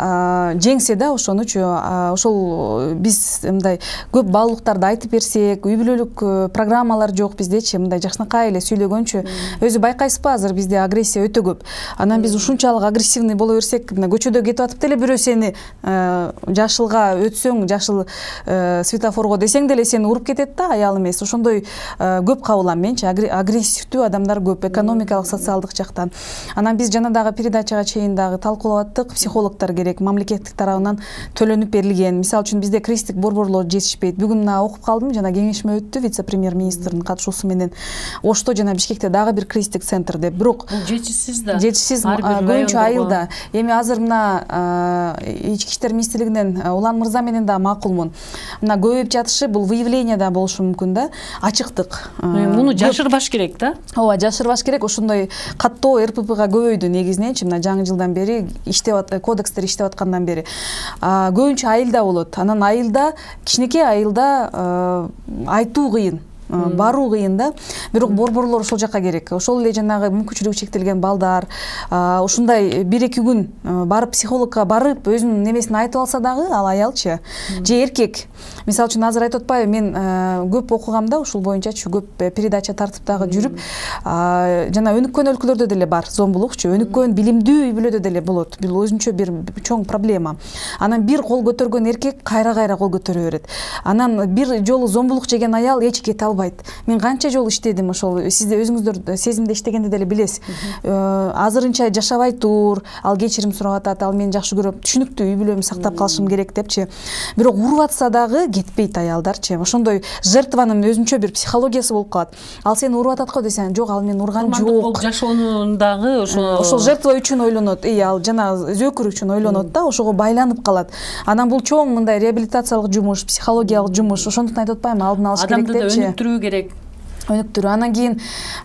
жеңсе да ошонучу, ошол биз мындай көп баалуулуктарды айтып берсек, үй бүлөлүк программа драмалар жок биздечи, мындай жакшынакай эле сүйлөгөнчү. Өзү байкайсызбы, азыр бизде агрессия өтө көп. Анан биз ушунчалык агрессивный боло берсек, мына көчөдө кетип атып деле бирөө сени жашылга өтсөң, жашыл светофорго десең деле сени уруп кетет да, аял эмес. Ошондой көп кабыл алам менчи, агрессивдүү адамдар көп, экономикалык, социалдык жактан. Анан биз жана дагы передачага чейин дагы талкуулап аттык, психологдор керек, мамлекеттик тарабынан төлөнүп берилген. Мисалы үчүн бизде кризистик борборлор жетишпейт. Бүгүн окуп калдым, жана кеңешме өттү вице-премьер-министрдин катышуусу менен. Ошто жана Бишкекте дагы бир кризистик центр деп. Бирок жетишсиз да. Жетишсиз көбүнчө айылда. Эми азыр мына ички иштер министрлигинен Улан мырза менен да макулмун. Мына көбөйүп жатышы бул выявление да болушу мүмкүн да. Ачыктык. Муну жашырбаш керек да. Ооба, жашырбаш керек. Ошондой каттоо РППга көбөйдү негизиненчи, мына жаңы жылдан бери кодекстер иштеп аткандан бери. Көбүнчө айылда болот. Анан айылда, кичинекей айылда айтуу кыйын. Баруу кыйын да. Бирок борборлор ошол жака керек. Ошол эле жанагы мүмкүнчүлүгү чектелген балдар ушундай 1-2 күн барып психологко барып өзүнүн немесин айтып алса дагы, ал аялчы же эркек. Мисалы үчүн азыр айтып атпайбы, мен көп окугам да, ушул боюнчачы көп передача тартып дагы жүрүп, жана өнүккөн өлкөлөрдө деле бар зомбулукчу, өнүккөн билимдүү үй бүлөдө деле болот. Бул өзүнчө бир чоң проблема. Анан бир кол көтөргөн эркек кайра кол көтөрө берет. Анан бир жолу зомбулук жеген аял эч кете албайт. Мен канча жолу иштедим ошол, сиз де өзүңүздөр сезимде иштегенде деле билесиз. Азырынча жашабай тур, ал кечирим сурап атат, ал мени жакшы көрөт, түшүнүктүү үй бүлөмдү сактап калышым керек депчи. Бирок уруп атса дагы кетпейт аялдарчы. Ошондой жертванын өзүнчө бир психологиясы болуп калат. Ал сени уруп атат го десең, жок, ал мени урган жок. Жашоонундагы ошол жертва үчүн ойлонот, ал жана зөөкүр үчүн ойлонот да, ошого байланып калат. Анан бул чоң мындай реабилитациялык жумуш, психологиялык жумуш. Ошондуктан айтып атпаймынбы, алдын алыш керек депчи. Адамды да өнүктүрүү керек. Өнүктүрүү. Анан кийин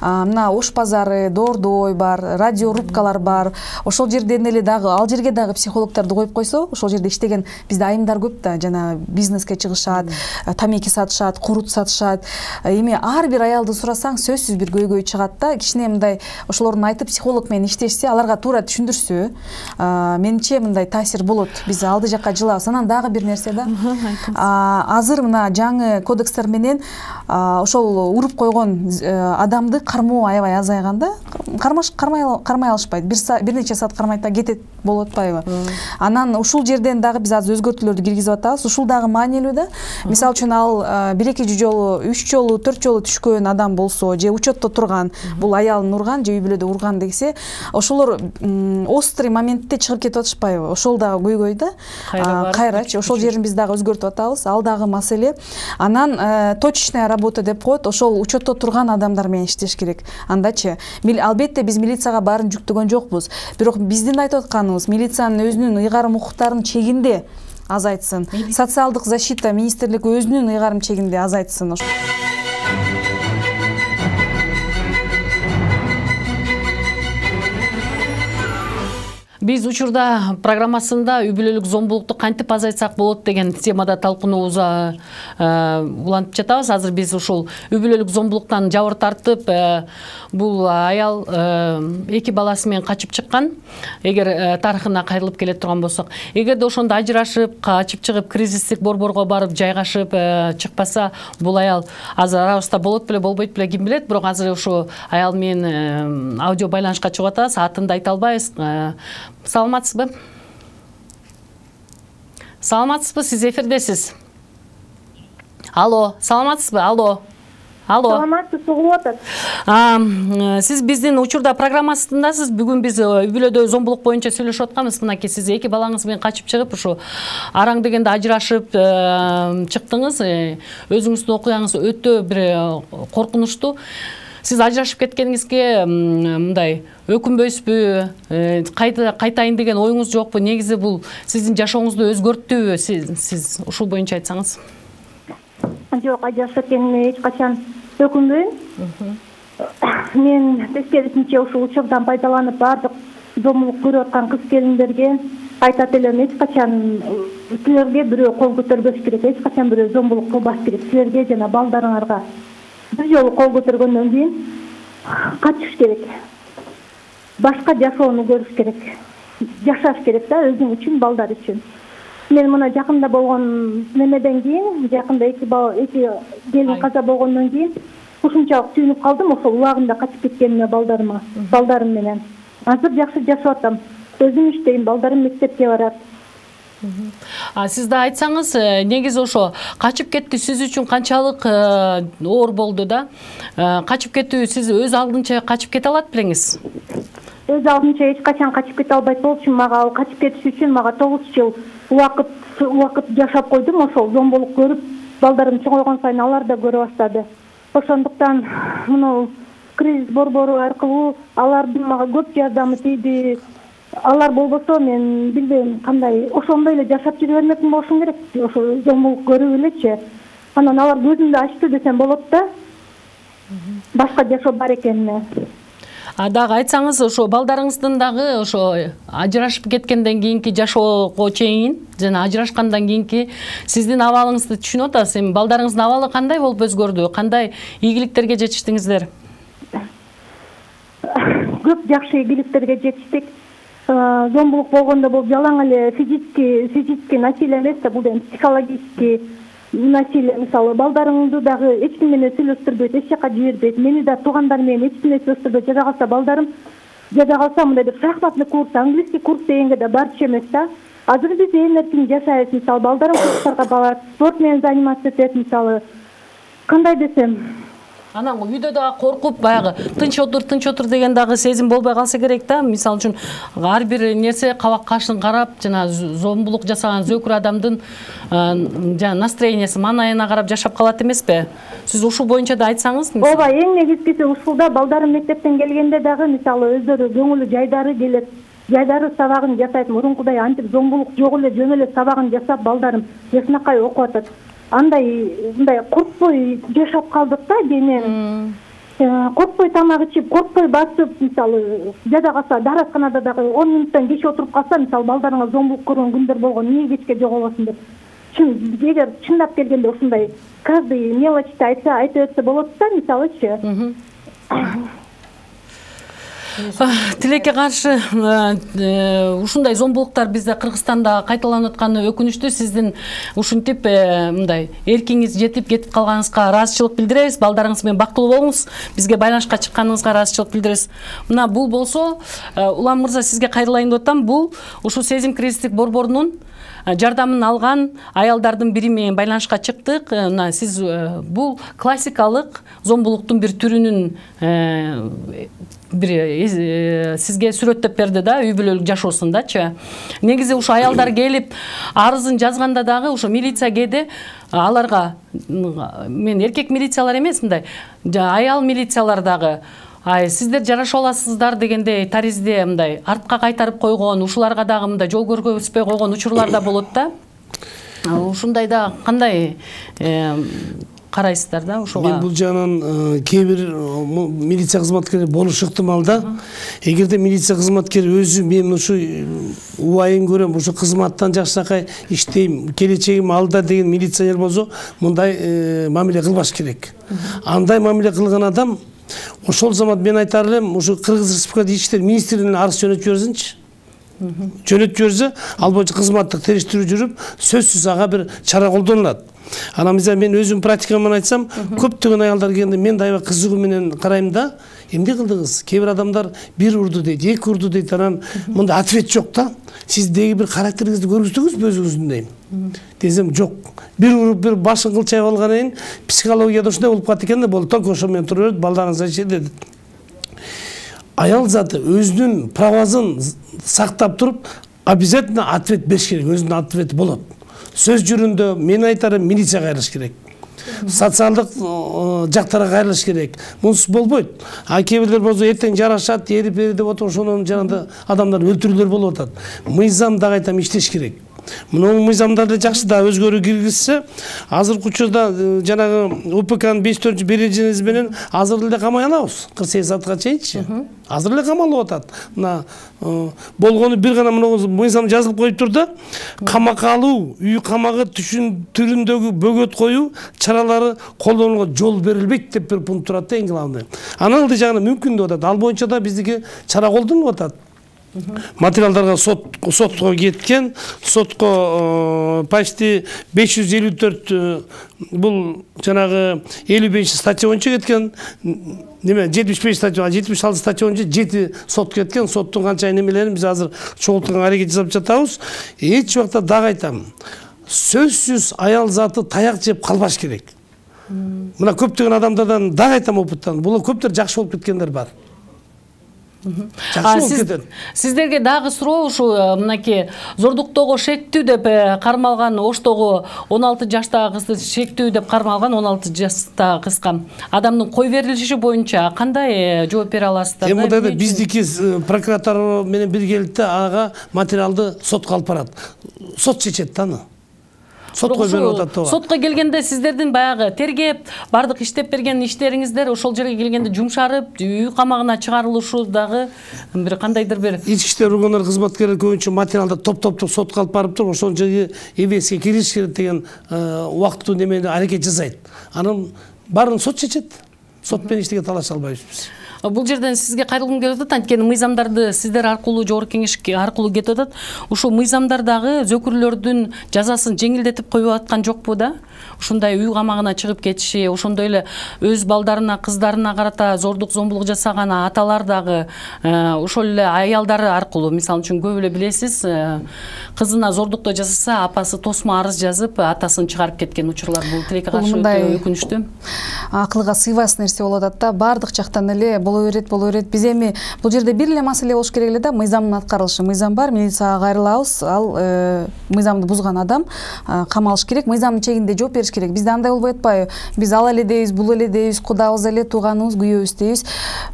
мына Ош базары, Доордой бар, радиорубкалар бар. Ошол жерден эле дагы, ал жерге дагы психологдорду коюп койсо, ошол жерде иштеген бизде айымдар көп да, жана бизнеске чыгышат, тамеки сатышат, курут сатышат. Эми ар бир аялды сурасаң, сөзсүз бир көйгөй чыгат да. Кичине мындай ошолордун айтып психолог менен иштешсе, аларга туура түшүндүрсө, менимче мындай таасир болот. Биз алды жакка жылабыз. Анан дагы бир нерсе да. Азыр мына жаңы кодекстер менен ошол уруп койгон адамды кармоо аябай азайган да. Кармай алышпайт. Бир нече саат кармайт да кетет болуп атпайбы? Анан ушул жерден дагы биз азыр өзгөртүүлөрдү киргизип атабыз. Ушул дагы маанилүү да. Мисалы үчүн ал 1-2 жолу, 3 жолу, 4 жолу түшкөн адам болсо, же учетто турган, бул аялын урган же үй бүлөдө урган десе, ошолор острый моментте чыгып кетип атышпайбы? Ошол дагы көйгөй да. Кайрачы ошол жерин биз дагы өзгөртүп атабыз. Ал дагы маселе. Анан точечная работа деп коет. Ошол учетто турган адамдар менен иштеш керек. Андачы, албетте биз милицияга баарын жүктөгөн жокпуз. Бирок биздин айтып атканыбыз, милициянын өзүнүн ыйгарым укуктарын чегинде азайтсын. Социалдык защита министрлиги өзүнүн ыйгарым чегинде азайтсын. Биз учурда программасында үй бүлөлүк зомбулукту кантип азайтсак болот деген темада талкунообузга улантып жатабыз. Азыр биз ушул үй бүлөлүк зомбулуктан жабыр тартып, бул аял 2 баласы менен качып чыккан. Эгер тарыхына кайрылып келе турган болсок, эгерде ошондо ажырашып, качып чыгып, кризистик борборго барып жайгашып чыкпаса, бул аял азыр арабызда болот беле, болбойт беле, ким билет. Бирок азыр ушу аял менен аудио байланышка чыгып атабыз, атын да айта албайбыз. Саламатсызбы? Саламатсызбы? Сиз эфирдесиз. Алло, саламатсызбы? Алло. Саламатсыз, угулуп атат. Сиз биздин учурда программасындасыз. Бүгүн биз үй бүлөдө зомбулук боюнча сүйлөшүп атканбыз. Мынакей сиз 2 балаңыз менен качып чыгып, ушу араң дегенде ажырашып чыктыңыз. Өзүңүздүн окуяңыз өтө бир коркунучтуу. Сиз ажырашып кеткениңизге мындай өкүнбөйсүзбү? Кайтайын деген оюңуз жокпу? Негизи бул сиздин жашооңузду өзгөрттүбү? Сиз ушул боюнча айтсаңыз. Жок, ажырашып кеткениме эч качан өкүнбөйм. Мен тескерисинче ушул учурдан пайдаланып бардык зомбулук көрүп аткан кыз келиндерге айтат элем, эч качан силерге бирөө кол көтөрбөш керек, эч качан бирөө зомбулук кылбаш керек. Силерге жана балдарыңарга бир жолу кол көтөргөндөн кийин качыш керек. Башка жашоону көрүш керек. Жашаш керек да, өзүң үчүн, балдар үчүн. Мен мына жакында болгон немеден кийин, жакында 2 келин каза болгондон кийин ушунчалык сүйүнүп калдым ошол убагында качып кеткениме балдарым менен. Азыр жакшы жашап атам. Өзүм иштейм, балдарым мектепке барат. Сиз да айтсаңыз, негизи ошо качып кетти сиз үчүн канчалык оор болду да? Качып кетүү сиз өз алдынча качып кете алат белеңиз? Өз алдынча эч качан качып кете албайт болчумун. Мага ал качып кетиш үчүн 9 жыл убакыт жашап койдум. Ошол зомбулук көрүп, балдарым чоңойгон сайын алар да көрө баштады. Ошондуктан мына кризис борбору аркылуу алардын мага көп жардамы тийди. Алар болбосо мен билбейм кандай ошондой эле жашап жүрө бермекмин болушум керек. Ошо зомбулук көрүп элечи. Анан алар көзүмдү ачты десем болот да. Башка жашоо бар экенине. Дагы айтсаңыз, ошо балдарыңыздын дагы ошо ажырашып кеткенден кийинки жашоого чейин жана ажырашкандан кийинки сиздин абалыңызды түшүнүп атасыз. Эми балдарыңыздын абалы кандай болуп өзгөрдү? Кандай ийгиликтерге жетиштиңиздер? Көп жакшы ийгиликтерге жетиштик. Зомбулук болгондо бул жалаң эле физический насилие эмес да, бул эми психологический насилие. Мисалы, балдарыңды дагы эч ким менен сүйлөштүрбөйт, эч жака жибербейт. Мени да туугандар менен эч нерсе сөйлөштүрбөйт. Жада калса балдарым, жада калса мындай бир шахматный курс, английский курс дегенге да барчу эмес да. Азыр биз эң эркин жашайбыз. Мисалы, балдарым курстарга барат, спорт менен заниматься этет. Мисалы, кандай десем, анан үйдө дагы коркуп, баягы тынч отур деген дагы сезим болбой калса керек да. Мисалы үчүн ар бир нерсе кабак кашын карап, жана зомбулук жасаган зөөкүр адамдын жана настроениясы, маанайына карап жашап калат эмеспи? Сиз ушул боюнча да айтсаңыз. Ооба, эң негизгиси ушулда балдарым мектептен келгенде дагы мисалы өздөрү көңүлү жайдары келет. Жайдары сабагын жасайт. Мурункудай антип зомбулук жок эле жөн эле сабагын жасап балдарым жакшынакай окуп атат. Мындай коркпой жашап калдык да денем. Коркпой тамак ичип, коркпой басып, мисалы, жада калса дарасканада дагы 10 минуттан кеч отуруп калса, мисалы, балдарыңа зомбулук көргөн күндөр болгон, эмне кечке жоголосуң деп. Эгер чындап келгенде ушундай каждый мелочти айта берсе болот да, мисалычы. Тилекке каршы ушундай зомбулуктар бизде Кыргызстанда кайталанып атканы өкүнүчтүү. Сиздин ушинтип мындай эркиңиз жетип кетип калганыңызга ыраазычылык билдиребиз. Балдарыңыз менен бактылуу болуңуз. Бизге байланышка чыкканыңызга ыраазычылык билдиребиз. Мына бул болсо, Улам мырза, сизге кайрылайын деп атам. Бул ушул сезим кризистик борборунун жардамын алган аялдардын бири менен байланышка чыктык. Мына сиз бул классикалык зомбулуктун бир түрүнүн сизге сүрөттөп берди да, үй бүлөлүк жашоосундачы. Негизи ушу аялдар келип арызын жазганда дагы ушу милиция кээде аларга, мен эркек милициялар эмес, мындай аял милициялар дагы сиздер жарашып аласыздар дегенде таризде мындай артка кайтарып койгон, ушуларга дагы мындай жол көргөзбөй койгон учурлар да болот да. Ушундайда кандай карайсыздар да ошого? Мен бул жагынан кээ бир милиция кызматкери болушу ыктымал да. Эгерде милиция кызматкери өзү мен ушу убайын көрөм, ушу кызматтан жакшынакай иштейм, келечегим алда деген милиционер болсо, мындай мамиле кылбаш керек. Андай мамиле кылган адам ошол замат мен айтар элем, ушу Кыргыз Республикасы Ички иштер министрлигине арыз жөнөтүп жиберсинчи. Жөнөтүп жиберсе, ал боюнча кызматтык териштирүү жүрүп, сөзсүз ага бир чара колдонулат. Анан мен өзүм практикамдан айтсам, көптөгөн аялдар келгенде мен дайыма кызыгуу менен карайм да, эмне кылдыңыз? Кээ бир адамдар бир урду дейт, эки урду дейт, анан мындай ответ жок да. Сиз деги бир характериңизди көрсөтүңүзбү өзүңүздүн дейм. Десем жок. Бир уруп бир башын кылчайып алгандан кийин психологияда ушундай болуп калат экен да, болду, только ошо менен тура берет, балдарыңыз ачы дедит. Аял заты өзүнүн правасын сактап туруп, обязательно ответ бериш керек, өзүнүн ответи болот. Сөз жүрүндө мен айтарым, милицияга кайрылыш керек. Социалдык жактарга кайрылыш керек. Мунсуз болбойт. Кээ бирлер болсо эртең жарашат, ери бери деп отуруп, ошонун жанында адамдар өлтүрүүлөр болуп атат. Мыйзам дагы айтам иштеш керек. Мына мыйзамдарды жакшы да өзгөрүү киргизсе, азыркы учурда жанагы УПКнын 5-4 менен азыр эле камай алабыз. 48 саатка чейинчи. Азыр эле камалып атат. Мына болгону бир гана мыйзам жазылып коюп тур да, камакка алуу, үй камагы түрүндөгү бөгөт коюу чаралары колдонууга жол берилбейт деп бир пункт турат да, эң главный. Анын ылдый жагына мүмкүн деп атат. Ал боюнча да биздики чара колдонулуп атат. Материалдарга сотко кеткен, сотко почти 554 бул жанагы 55 статья боюнча кеткен. Неме 75 статья, 76 статья боюнча 7 сот кеткен. Соттун канча немелерин биз азыр чогултканга аракет жасап жатабыз. Эч убакта дагы айтам. Сөзсүз аял заты таяк жеп калбаш керек. Мына көптөгөн адамдардан дагы айтам опыттан. Булар көптөр жакшы болуп кеткендер бар. Сиздерге дагы суроо ушу мынакей зордуктоого шектүү деп кармалган Оштогу 16 жаштагы кызды шектүү деп кармалган 16 жаштагы кызга адамдын кой берилиши боюнча кандай жооп бере аласыздар? Эми мындай биздики прокуратура менен биргеликте ага материалды сотко алып барат. Сот чечет да аны. Сотко берип атат да. Сотко келгенде сиздердин баягы тергеп, бардык иштеп берген иштериңиздер ошол жерге келгенде жумшарып, үй камагына чыгарылышы дагы бир кандайдыр бир ички иштер органдары кызматкерлери көбүнчө материалды топтоп сотко алып барып туруп ошол жерге эбеске кириш керек деген убакыттуу немени аракет жасайт. Анын баарын сот чечет. Сот менен эчтеке талаша албайбыз биз. Бул жерден сизге кайрылгым келип атат, анткени мыйзамдарды сиздер аркылуу жогорку кеңеш аркылуу кетип атат. Ушул мыйзамдар дагы зөкүрлөрдүн жазасын жеңилдетип коюп аткан жокпу да? Ушундай үй камагына чыгып кетиши, ошондой эле өз балдарына, кыздарына карата зордук зомбулук жасаган аталар дагы ошол эле аялдары аркылуу, мисалы үчүн көп эле билесиз, кызына зордуктоо жасаса, апасы тосмо арыз жазып, атасын чыгарып кеткен учурлар бул тилекке каршы өтө өкүнүчтүү. Акылга сыйбас нерсе болуп атат да, бардык жактан эле боло берет. Биз эми бул жерде бир эле маселе болуш керек эле да, мыйзамдын аткарылышы. Мыйзам бар, милицияга кайрылабыз, ал мыйзамды бузган адам камалыш керек, мыйзамдын чегинде жооп бериш керек. Бизде андай болбой атпайбы? Биз ал эле дейбиз, бул эле дейбиз, кудабыз эле, тууганыбыз, күйөөбүз дейбиз.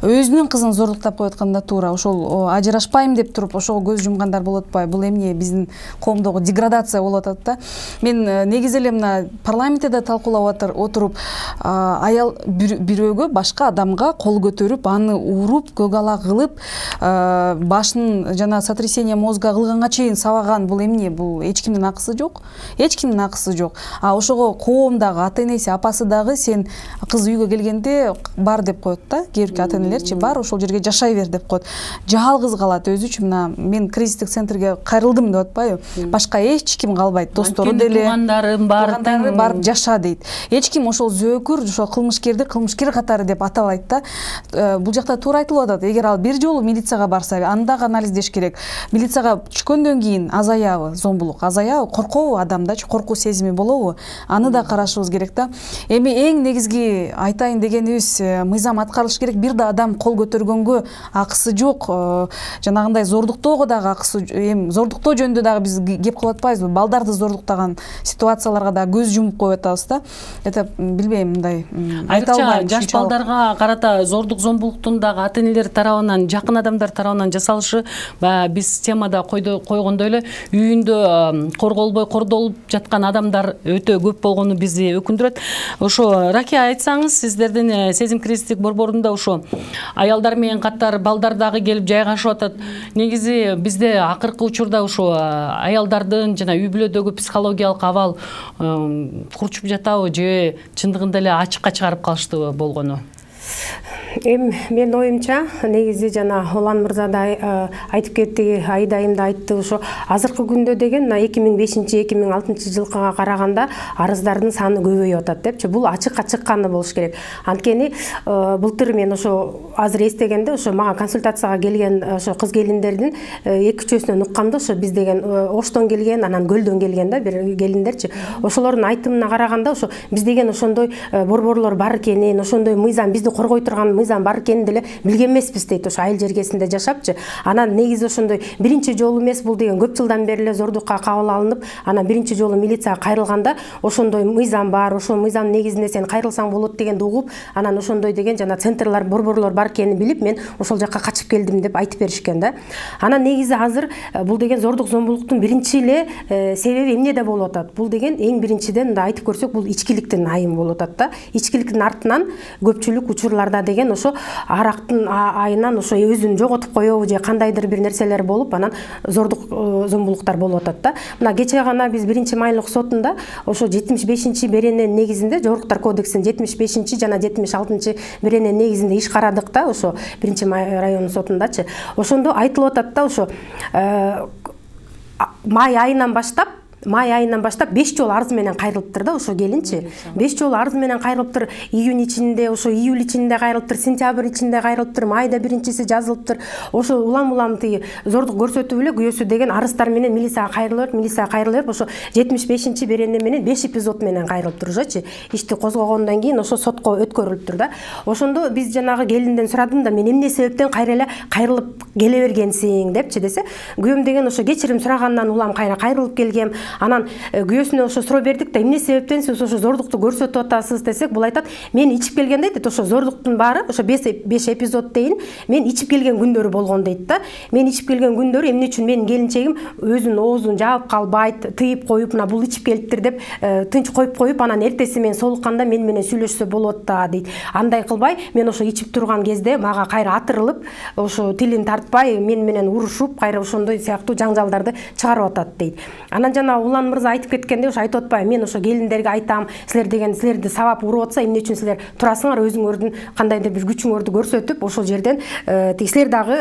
Өзүнүн кызын зордуктап коюп атканда туура, ошол ажырашпайм деп туруп ошого көз жумгандар болот атпайбы? Бул эмне биздин коомдогу деградация болуп атат да. Мен негизи эле мына парламентте да талкуулап отуруп, аял бирөөгө, башка адамга кол көтөрүп, аны уруп, көк ала кылып, башын жана сотрясение мозга кылганга чейин сабаган, бул эмне? Бул эч кимдин акысы жок. Эч кимдин акысы жок. Ошого коом дагы, ата-энеси, апасы дагы сен кыз үйгө келгенде бар деп коет да. Кээ бирки ата-энелерчи бар, ошол жерге жашай бер деп коет. Жалгыз калат өзүчү. Мына мен кризистик центрге кайрылдым деп атпайбы? Башка эч ким калбайт. Достору деле, туугандарым барып жаша дейт. Эч ким ошол зөөкүр, ошол кылмышкерди кылмышкер катары деп атабайт да. Бул жакта туура айтылып атат. Эгер ал бир жолу милицияга барса, аны дагы анализдеш керек. Милицияга түшкөндөн кийин азаябы зомбулук, азаябы, коркобу адамдачы, коркуу сезими болобу? Аны да карашыбыз керек да. Эми эң негизги айтайын дегенибиз, мыйзам аткарылыш керек. Бир да адам кол көтөргөнгө акысы жок. Жанагындай зордуктоого дагы акысы, эми зордуктоо жөнүндө дагы биз кеп кылып атпайбызбы? Балдарды зордуктаган ситуацияларга да көз жумуп коюп атабыз да. Это билбейм, мындай айта албайм. Жаш балдарга карата зордук зомбулуктун дагы ата-энелер тарабынан, жакын адамдар тарабынан жасалышы биз темада койгондой эле үйүндө корголбой кордолуп жаткан адамдар өтө көп болгону бизди өкүндүрөт. Ошо Ракия айтсаңыз, сиздердин сезим кризистик борборунда ошо аялдар менен катар балдар дагы келип жайгашып атат. Негизи бизде акыркы учурда ошо аялдардын жана үй бүлөдөгү психологиялык абал курчуп жатабы же чындыгында эле ачыкка чыгарып калыштыбы болгону? Эми мен оюмча негизи жана Улан мырза да айтып кетти, Айдайым да айтты, ошо азыркы күндө деген 2005-2006 жылга караганда арыздардын саны көбөйүп атат депчи. Бул ачыкка чыкканы болуш керек. Анткени былтыр мен ошо азыр эстегенде ошо мага консультацияга келген ошо кыз келиндердин эки үчөөсүнөн уккам да, ошо биз деген Оштон келген, анан Көлдөн келген да бир келиндерчи. Ошолордун айтымына караганда ошо биз деген ошондой борборлор бар экенин, ошондой мыйзам бизди коргой турган мыйзам бар экенин деле билген эмеспиз дейт, ошо айыл жергесинде жашапчы. Анан негизи ошондой биринчи жолу эмес бул деген, көп жылдан бери эле зордукка кабыл алынып, анан биринчи жолу милицияга кайрылганда ошондой мыйзам бар, ошол мыйзам негизинде сен кайрылсаң болот дегенди угуп, анан ошондой деген жана центрлар, борборлор бар экенин билип, мен ошол жакка качып келдим деп айтып беришкен да. Анан негизи азыр бул деген зордук зомбулуктун биринчи эле себеби эмнеде болуп атат? Бул деген эң биринчиден мындай айтып көрсөк, бул ичкиликтин айымы болуп атат да. Ичкиликтин артынан көпчүлүк учурларда деген ошо арактын айынан ошо өзүн жоготуп коебу же кандайдыр бир нерселер болуп анан зордук зомбулуктар болуп атат да. Мына кече гана биз 1-майлык сотунда ошо 75-берене негизинде Жогоркудар кодексинин 75 жана 76 берене негизинде иш карадык да, ошо 1-май районун сотундачы. Ошондо айтылып атат да, ошо май айынан баштап 5 жолу арыз менен кайрылыптыр да, ошо келинчи. 5 жолу арыз менен кайрылыптыр, июнь ичинде, ошо июль ичинде кайрылыптыр, сентябрь ичинде кайрылыптыр, майда биринчиси жазылыптыр. Ошо улам тиги зордук көрсөтүп эле күйөөсү деген арыздар менен милицияга кайрылып, ошо 75 берене менен 5 эпизод менен кайрылыптыр ошочу. Ишти козгогондон кийин ошо сотко өткөрүлүптүр да. Ошондо биз жанагы келинден сурадым да, мен эмне себептен кайрылып келе бергенсиң депчи десе, күйөөм деген ошо кечирим сурагандан улам кайрылып келгем. Анан күйөөсүнө ошо суроо бердик да, эмне себептен сиз ошо зордукту көрсөтүп атасыз десек, бул айтат, мен ичип келгенде дейт, ошо зордуктун баары ошо 5 эпизод дейин мен ичип келген күндөрү болгон дейт да. Мен ичип келген күндөрү эмне үчүн менин келинчегим өзүнүн оозун жаап калбайт, тыйып коюп, мына бул ичип келиптир деп тынч коюп, анан эртеси мен солукканда мен менен сүйлөшсө болот да дейт. Андай кылбай, мен ошо ичип турган кезде мага кайра атырылып, ошо тилин тартпай, мен менен урушуп, кайра ошондой сыяктуу жаңжалдарды чыгарып атат дейт. Анан жана Улан мырза айтып кеткенде, ошо айтып атпайбы, мен ошо келиндерге айтам, силерди сабап уруп атса, эмне үчүн силер турасыңар, өзүңөрдүн кандайдыр бир күчүңөрдү көрсөтүп, ошол жерден силер дагы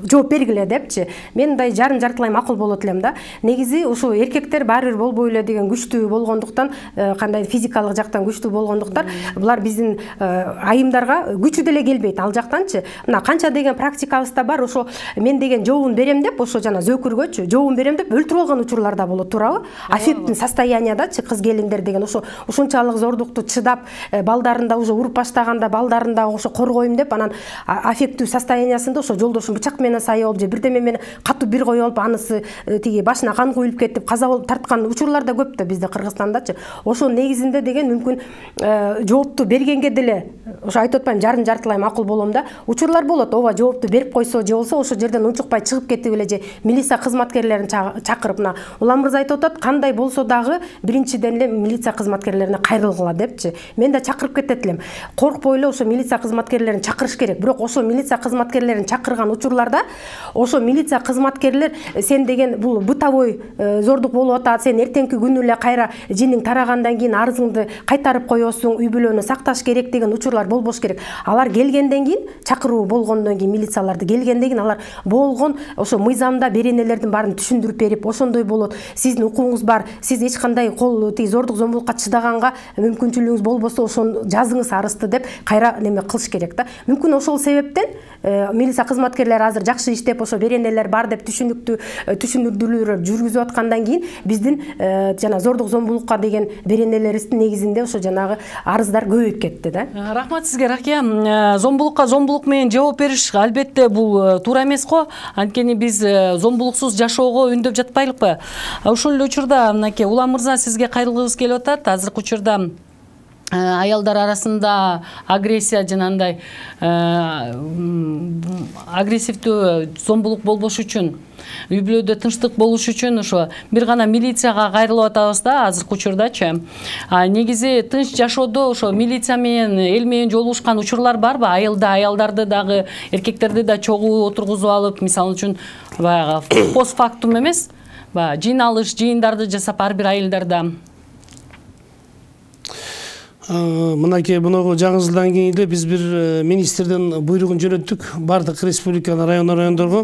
жооп бергиле депчи. Мен мындай жартылай макул болот элем да. Негизи ошо эркектер баары бир болбой эле деген күчтүү болгондуктан, кандай физикалык жактан күчтүү болгондуктан, булар биздин айымдарга күчү деле келбейт ал жактанчы. Мына канча деген практикабызда бар, ошо мен деген жообун берем деп, ошо жана зөөкүргөчү жообун берем деп өлтүрүп алган учурлар да болот, туурабы? Аффектный состояниядачы кыз келиндер деген ошончалык зордукту чыдап, балдарында уже уруп баштаганда, балдарында ошо коргойм деп, анан аффектный состояниясында ошо жолдошун бычак менен сайып же бирдеме менен катуу бир коюп алып, анысы тиги башына кан куюлуп кетип, каза болуп тарткан учурлар да көп да бизде Кыргызстандачы. Ошо негизинде деген мүмкүн жоопту бергенге деле, ошо айтып атпайм, жартылай макул болом да. Учурлар болот, ооба жоопту берип койсо же болсо ошо жерден унчукпай чыгып кетип эле же милиция кызматкерлерин чакырып, мына Улан мырза айтып атат, кандай болсо дагы биринчиден эле милиция кызматкерлерине кайрылгыла депчи. Мен да чакырып кетет элем. Коркпой эле ошо милиция кызматкерлерин чакырыш керек. Бирок ошо милиция кызматкерлерин чакырган учурларда ошо милиция кызматкерлер сен деген бул бытовой зордук болуп атат, сен эртеңки күнү эле кайра жиниң тарагандан кийин арызыңды кайтарып коесуң, үй бүлөнү сакташ керек деген учурлар болбош керек. Алар келгенден кийин, чакыруу болгондон кийин, милицияларды келгенден кийин алар болгон ошо мыйзамда беренелердин баарын түшүндүрүп берип, ошондой болот. Сиздин укугуңуз бар, сиз эч кандай зордук зомбулукка чыдаганга мүмкүнчүлүгүңүз болбосо ошону жазыңыз арызды деп кайра неме кылыш керек да. Мүмкүн ошол себептен милиция кызматкерлери азыр жакшы иштеп, ошо беренелер бар деп түшүндүрүүлөр жүргүзүп аткандан кийин биздин жана зордук зомбулукка деген беренелерибиздин негизинде ошо жанагы арыздар көбөйүп кетти да. Рахмат сизге, Ракия. Зомбулукка зомбулук менен жооп бериш албетте бул туура эмес го. Анткени биз зомбулуксуз жашоого үндөп жатпайлыкпы? Ошол эле учурда мынакей Улан мырза, сизге кайрылгыбыз келип атат. Азыркы учурда аялдар арасында агрессия жанагындай агрессивдүү зомбулук болбош үчүн, үй бүлөдө тынчтык болуш үчүн ошо бир гана милицияга кайрылып атабыз да азыркы учурдачы. Негизи тынч жашоодо ошо милиция менен, эл менен жолугушкан учурлар барбы? Аялдарды дагы, эркектерди да чогуу отургузуп алып, мисалы үчүн баягы постфактум эмес, жыйналыш, жыйындарды жасап ар бир айылдарда. Мынакей мунугу жаңы жылдан кийин эле биз бир министрден буйругун жөнөттүк бардык республиканын райондорго.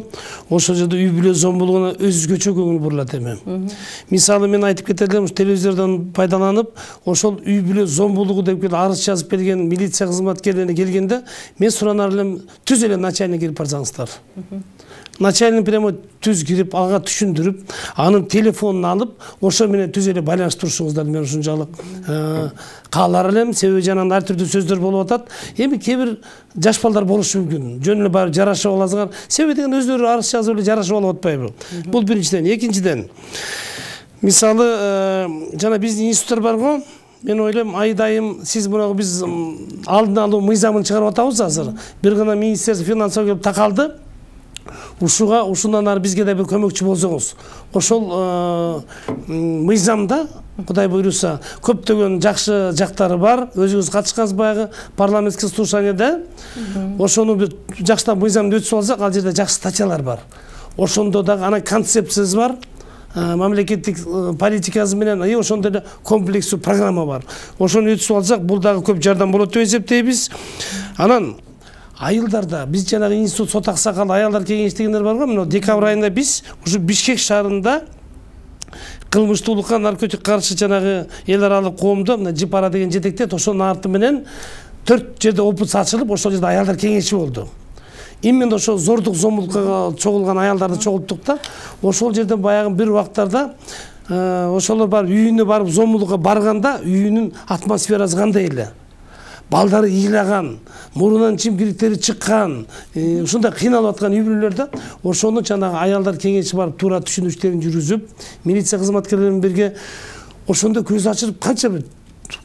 Ошол жерде үй бүлө зомбулугуна өзгөчө көңүл бурулат эми. Мисалы мен айтып кетет элем, телевизордон пайдаланып, ошол үй бүлө зомбулугу деп арыз жазып берген милиция кызматкерлерине келгенде, мен суранар элем, түз эле начальник кирип барсаңыздар. Начальник прямо түз кирип, ага түшүндүрүп, анын телефонун алып, ошо менен түз эле байланыштырушуңуздар, мен ушунчалык каалар элем. Себеби жанагы ар түрдүү сөздөр болуп атат. Эми кээ бир жаш балдар болушу мүмкүн. Жөн эле барып жарашып аласыңар. Себеби деген өздөрү арыз жазып эле жарашып алып атпайбы? Бул биринчиден. Экинчиден, мисалы жана биздин институттар бар го. Мен ойлойм, айдайым сиз мурагы биз алдын алуу мыйзамын чыгарып атабыз азыр. Бир гана министерство финансовый келип такалды. Ушундан ары бизге да бир көмөкчү болсоңуз. Ошол мыйзамда Кудай буйруса, көптөгөн жакшы жактары бар. Өзүңүз катышкансыз баягы парламенттик слушанияда. Ошону бир жакшытап мыйзамды өтүп алсак, ал жерде жакшы статьялар бар. Ошондо дагы ана концепциясы бар. Мамлекеттик политикасы менен ошондой эле комплекстүү программа бар. Ошону өтүп алсак, бул дагы көп жардам болот деп эсептейбиз. Анан айылдарда биз жанагы институт сот аксакал аялдар кеңеш дегендер бар го. Мына декабрь айында биз ушу Бишкек шаарында кылмыштуулукка наркотик каршы жанагы эл аралык коомдо мына Жипара деген жетектет, ошонун арты менен 4 жерде опус ачылып, ошол жерде аялдар кеңеши болду. Именно ошол зордук зомбулукка чогулган аялдарды чогулттук да. Ошол жерден баягы бир убактарда ошолор барып үйүнө барып зомбулукка барганда үйүнүн атмосферасы кандай эле? Балдары ыйлаган, мурунан чимкириктери чыккан, ушундай кыйналып аткан үй-бүлөлөр да. Ошону жанагы аялдар кеңеши барып туура түшүнүштөрүн жүргүзүп, милиция кызматкерлери менен бирге ошондо көз ачырып канча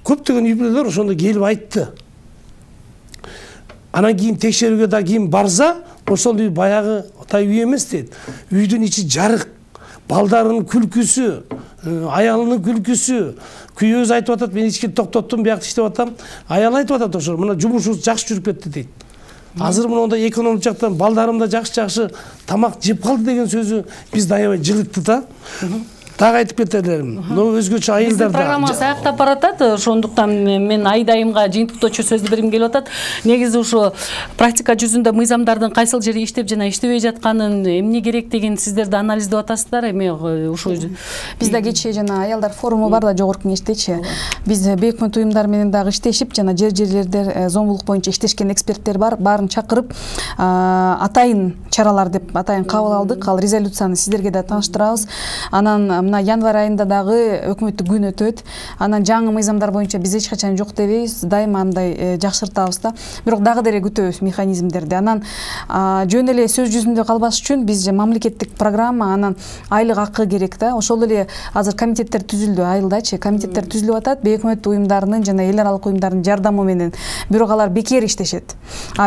көптөгөн үй-бүлөлөр ошондо келип айтты. Анан кийин текшерүүгө да кийин барса, ошол үй баягы үй эмес дейт. Үйдүн ичи жарык, балдарынын күлкүсү, аялынын күлкүсү. Күйөөз айтып атат, мен ички токтоттум, биякта иштеп атам. Аял айтып атат ошо, мына жумушубуз жакшы жүрүп кетти дейт. Азыр мындай экономик жактан балдарым да жакшы тамак жеп калды деген сөзү биз аябай жылытты да. Дагы айтып кетелерим. Но өзгөчө айылдарда программасы аяктап баратат. Ошондуктан мен айдайымга жыйынтыктоочу сөздү бергим келип атат. Негизи ушу практика жүзүндө мыйзамдардын кайсыл жери иштеп жана иштебей жатканын, эмне керек деген сиздер да анализдеп атасыздар. Эми ушу бизде кечээ жана аялдар форуму бар да жогорку кеңештечи. Биз бейик өкмөт уюмдары менен дагы иштешип, жана жерлерде зомбулук боюнча иштешкен эксперттер бар. Баарын чакырып, атайын чаралар деп атайын кабыл алдык. Ал резолюцияны сиздерге да тааныштырабыз. Анан мына январь айында дагы өкмөттүк күн өтөт. Анан жаңы мыйзамдар боюнча биз эч качан жок дебейбиз, дайыма андай жакшыртабыз да. Бирок дагы деле күтөбүз механизмдерди. Анан жөн эле сөз жүзүндө калбаш үчүн биз мамлекеттик программа, анан айлык акы керек да. Ошол эле азыр комитеттер түзүлдү, айылдачы комитеттер түзүлүп атат. Бейик өкмөт уюмдарынын жана эл аралык уюмдардын жардамы менен. Бирок алар бекер иштешет.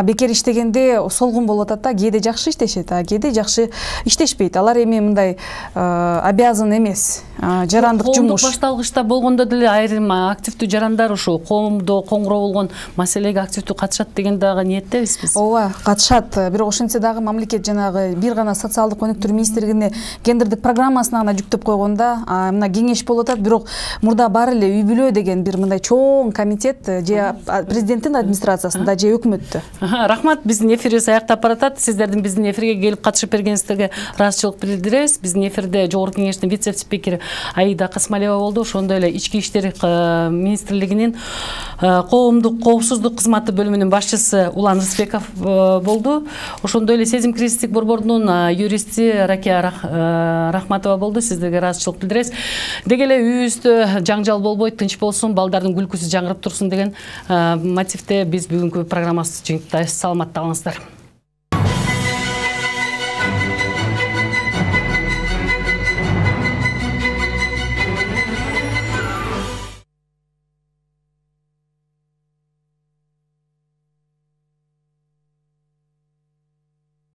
Бекер иштегенде солгун болуп атат да. Кээде жакшы иштешет, кээде жакшы иштешпейт. Алар эми мындай обязан эмес. Жарандык жумуш. Башталгычта болгондо деле айрым активдүү жарандар ушу коомдо коңгуроо болгон маселеге активдүү катышат деген дагы ниеттебиз биз. Ооба, катышат. Бирок ошентсе дагы мамлекет жанагы бир гана социалдык өнүктүрүү министрлигине гендердик программасына гана жүктөп койгонда, мына кеңеш болуп атат. Бирок мурда бар эле үй бүлө деген бир мындай чоң комитет же президенттин администрациясында же өкмөттө. Рахмат, биздин эфирибиз аяктап баратат. Сиздердин биздин эфирге келип катышып бергениңиздерге ыраазычылык билдиребиз. Биздин эфирде жогорку кеңештин вице-спикери Аида Касмалева болду. Ошондой эле Ички иштер министрлигинин коомдук коопсуздук кызматы бөлүмүнүн башчысы Улан Рысбеков болду. Ошондой эле Сезим кризистик борборунун юристи Ракия Рахматова болду. Сиздерге ыраазычылык билдиребиз. Деги эле үйүбүздө жаңжал болбой, тынч болсун, балдардын күлкүсү жаңырып турсун деген мотивде биз бүгүнкү программабызды жыйынтыктайбыз. Саламатта калыңыздар.